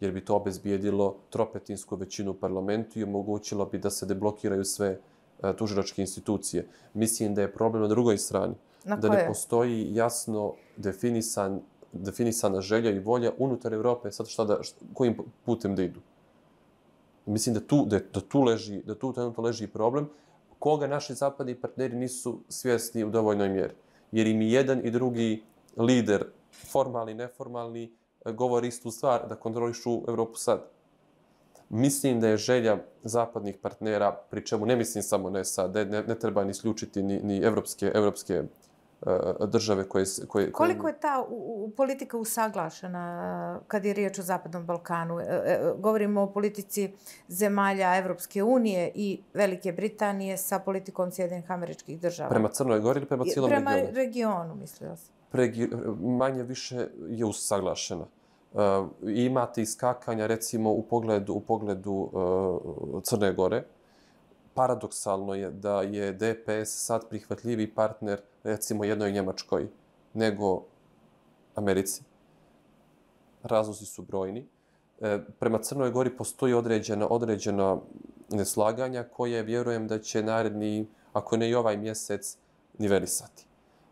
Jer bi to obezbijedilo tropetinsku većinu u parlamentu i omogućilo bi da se deblokiraju sve uh, tužilačke institucije. Mislim da je problem na drugoj strani. Na da ne postoji jasno definisan, definisana želja i volja unutar Evrope sad šta da, šta, kojim putem da idu. Mislim da tu, da, da tu leži, da tu trenutno leži problem koga naši zapadni partneri nisu svjesni u dovoljnoj mjeri. Jer im i jedan i drugi lider, formalni, neformalni, govori istu stvar, da kontrolišu Evropu sad. Mislim da je želja zapadnih partnera, pri čemu ne mislim samo na S A D, ne, ne treba ni isključiti ni, ni evropske, evropske uh, države koje... koje Koliko je ta u, u, politika usaglašena kad je riječ o Zapadnom Balkanu? E, e, govorimo o politici zemalja Evropske unije i Velike Britanije sa politikom Sjedinjenih Američkih Država. Prema Crnoj Gori ili prema cijelom prema regionu? Prema regionu, mislila sam. Pregi, manje više je usaglašena. Uh, imate iskakanja, recimo, u pogledu, u pogledu uh, Crne Gore. Paradoksalno je da je D P S sad prihvatljiviji partner, recimo, jednoj Njemačkoj nego Americi. Razlozi su brojni. prema Crnoj Gori postoji određena, određena neslaganja koje vjerujem da će naredni, ako ne i ovaj mjesec, nivelisati.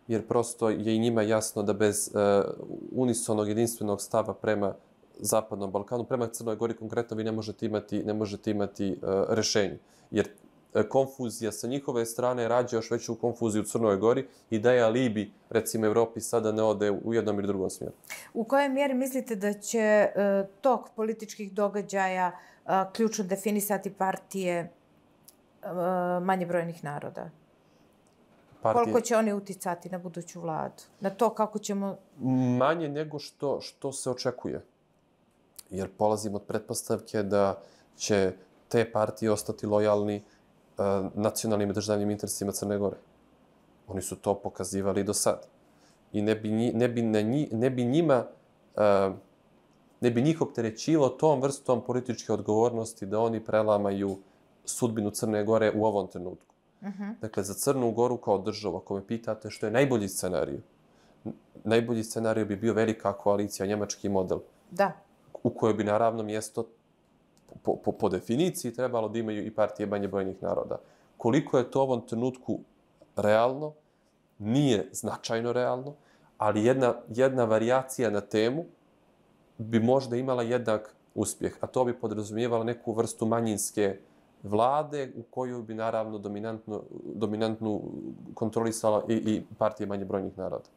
Jer prosto je i njima jasno da bez uh, unisonog jedinstvenog stava prema Zapadnom Balkanu, prema Crnoj Gori konkretno vi ne možete imati, ne možete imati uh, rešenje. Jer uh, konfuzija sa njihove strane rađa još veću konfuziju u Crnoj Gori i daje alibi, recimo, Evropi sada ne ode u jednom ili drugom smjeru. U kojoj mjeri mislite da će uh, tok političkih događaja uh, ključno definisati partije uh, manje brojnih naroda? Partije... Koliko će oni uticati na buduću vladu? Na to kako ćemo... Manje nego što, što se očekuje. Jer polazim od pretpostavke da će te partije ostati lojalni uh, nacionalnim i državnim interesima Crne Gore. Oni su to pokazivali do sad. I ne bi, ne bi, na nji, ne bi njima... Uh, ne bi njih opterećivo tom vrstom političke odgovornosti da oni prelamaju sudbinu Crne Gore u ovom trenutku. Uh-huh. Dakle, za Crnu Goru kao državu, ako me pitate što je najbolji scenarij, najbolji scenarij bi bio velika koalicija, njemački model. Da. U kojoj bi naravno mjesto po, po, po definiciji trebalo da imaju i partije manje brojnih naroda. Koliko je to u ovom trenutku realno, nije značajno realno, ali jedna, jedna varijacija na temu bi možda imala jednak uspjeh, a to bi podrazumijevala neku vrstu manjinske vlade u koju bi naravno dominantno, dominantnu kontrolisala i, i partije manje brojnih naroda.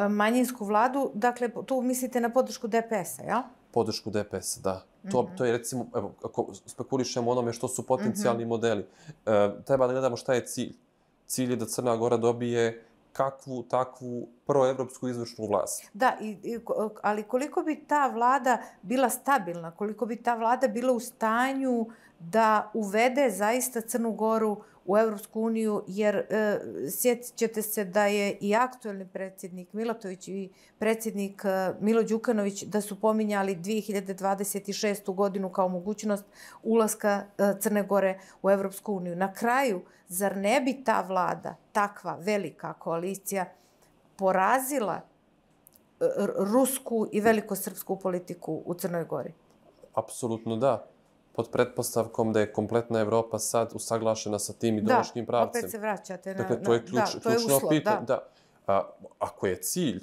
Manjinsku vladu, dakle, tu mislite na podršku D P S-a, ja? Podršku D P S-a, da. To, mm-hmm. to je recimo, evo, ako spekulišemo onome što su potencijalni mm-hmm. modeli, e, treba da gledamo šta je cilj. Cilj je da Crna Gora dobije kakvu, takvu proevropsku izvršnu vlast. Da, i, i, ali koliko bi ta vlada bila stabilna, koliko bi ta vlada bila u stanju da uvede zaista Crnu Goru u Evropsku uniju, jer e, sjetit ćete se da je i aktuelni predsjednik Milatović i predsjednik e, Milo Đukanović da su pominjali dvije hiljade dvadeset šestu godinu kao mogućnost ulaska e, Crne Gore u Evropsku uniju. Na kraju, zar ne bi ta vlada, takva velika koalicija, porazila e, rusku i velikosrpsku politiku u Crnoj Gori? Apsolutno da. Pod pretpostavkom da je kompletna Evropa sad usaglašena sa tim ideološkim pravcem. Da, opet se vraćate na... Dakle, to je, ključ, da, to je ključno uslov, pitanje. da. Da. A, ako je cilj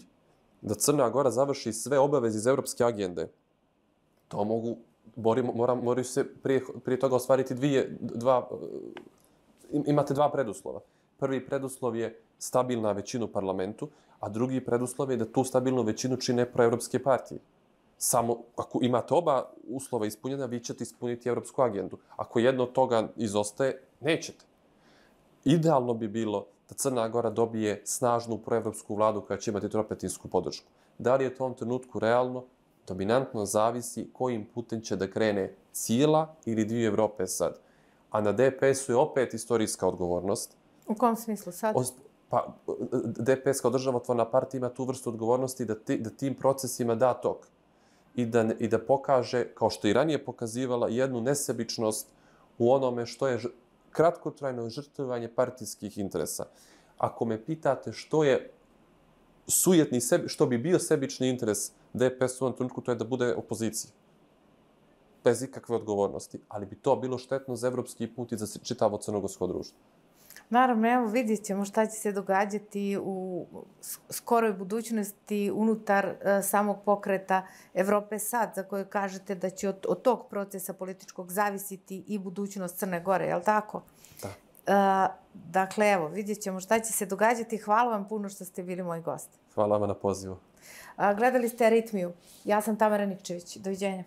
da Crna Gora završi sve obaveze iz evropske agende, to mogu, borimo, mora, moraju se prije, prije toga ostvariti dvije, dva, imate dva preduslova. Prvi preduslov je stabilna većina u parlamentu, a drugi preduslov je da tu stabilnu većinu čine proevropske partije. Samo ako imate oba uslova ispunjena, vi ćete ispuniti evropsku agendu. Ako jedno od toga izostaje, nećete. Idealno bi bilo da Crna Gora dobije snažnu proevropsku vladu koja će imati tropetinsku podršku. Da li je to u ovom trenutku realno? Dominantno zavisi kojim putem će da krene cijela ili dvije Evrope sad. A na D P S-u je opet istorijska odgovornost. U kom smislu sad? O, pa, D P S kao državotvorna partija ima tu vrstu odgovornosti da, ti, da tim procesima da tok. I da, i da pokaže, kao što i ranije pokazivala, jednu nesebičnost u onome što je ž, kratkotrajno žrtvovanje partijskih interesa. Ako me pitate što je sujetni sebi, što bi bio sebični interes D P S u ovom trenutku, to je da bude opozicija. Bez ikakve odgovornosti. Ali bi to bilo štetno za evropski put i za čitavo crnogorsko društvo. Naravno, evo vidjet ćemo šta će se događati u skoroj budućnosti unutar uh, samog pokreta Evrope sad, za koje kažete da će od, od tog procesa političkog zavisiti i budućnost Crne Gore, je li tako? Da. Uh, dakle, evo, vidjet ćemo šta će se događati. Hvala vam puno što ste bili moj gost. Hvala vam na pozivu. Uh, gledali ste Aritmiju. Ja sam Tamara Nikčević. Doviđenja.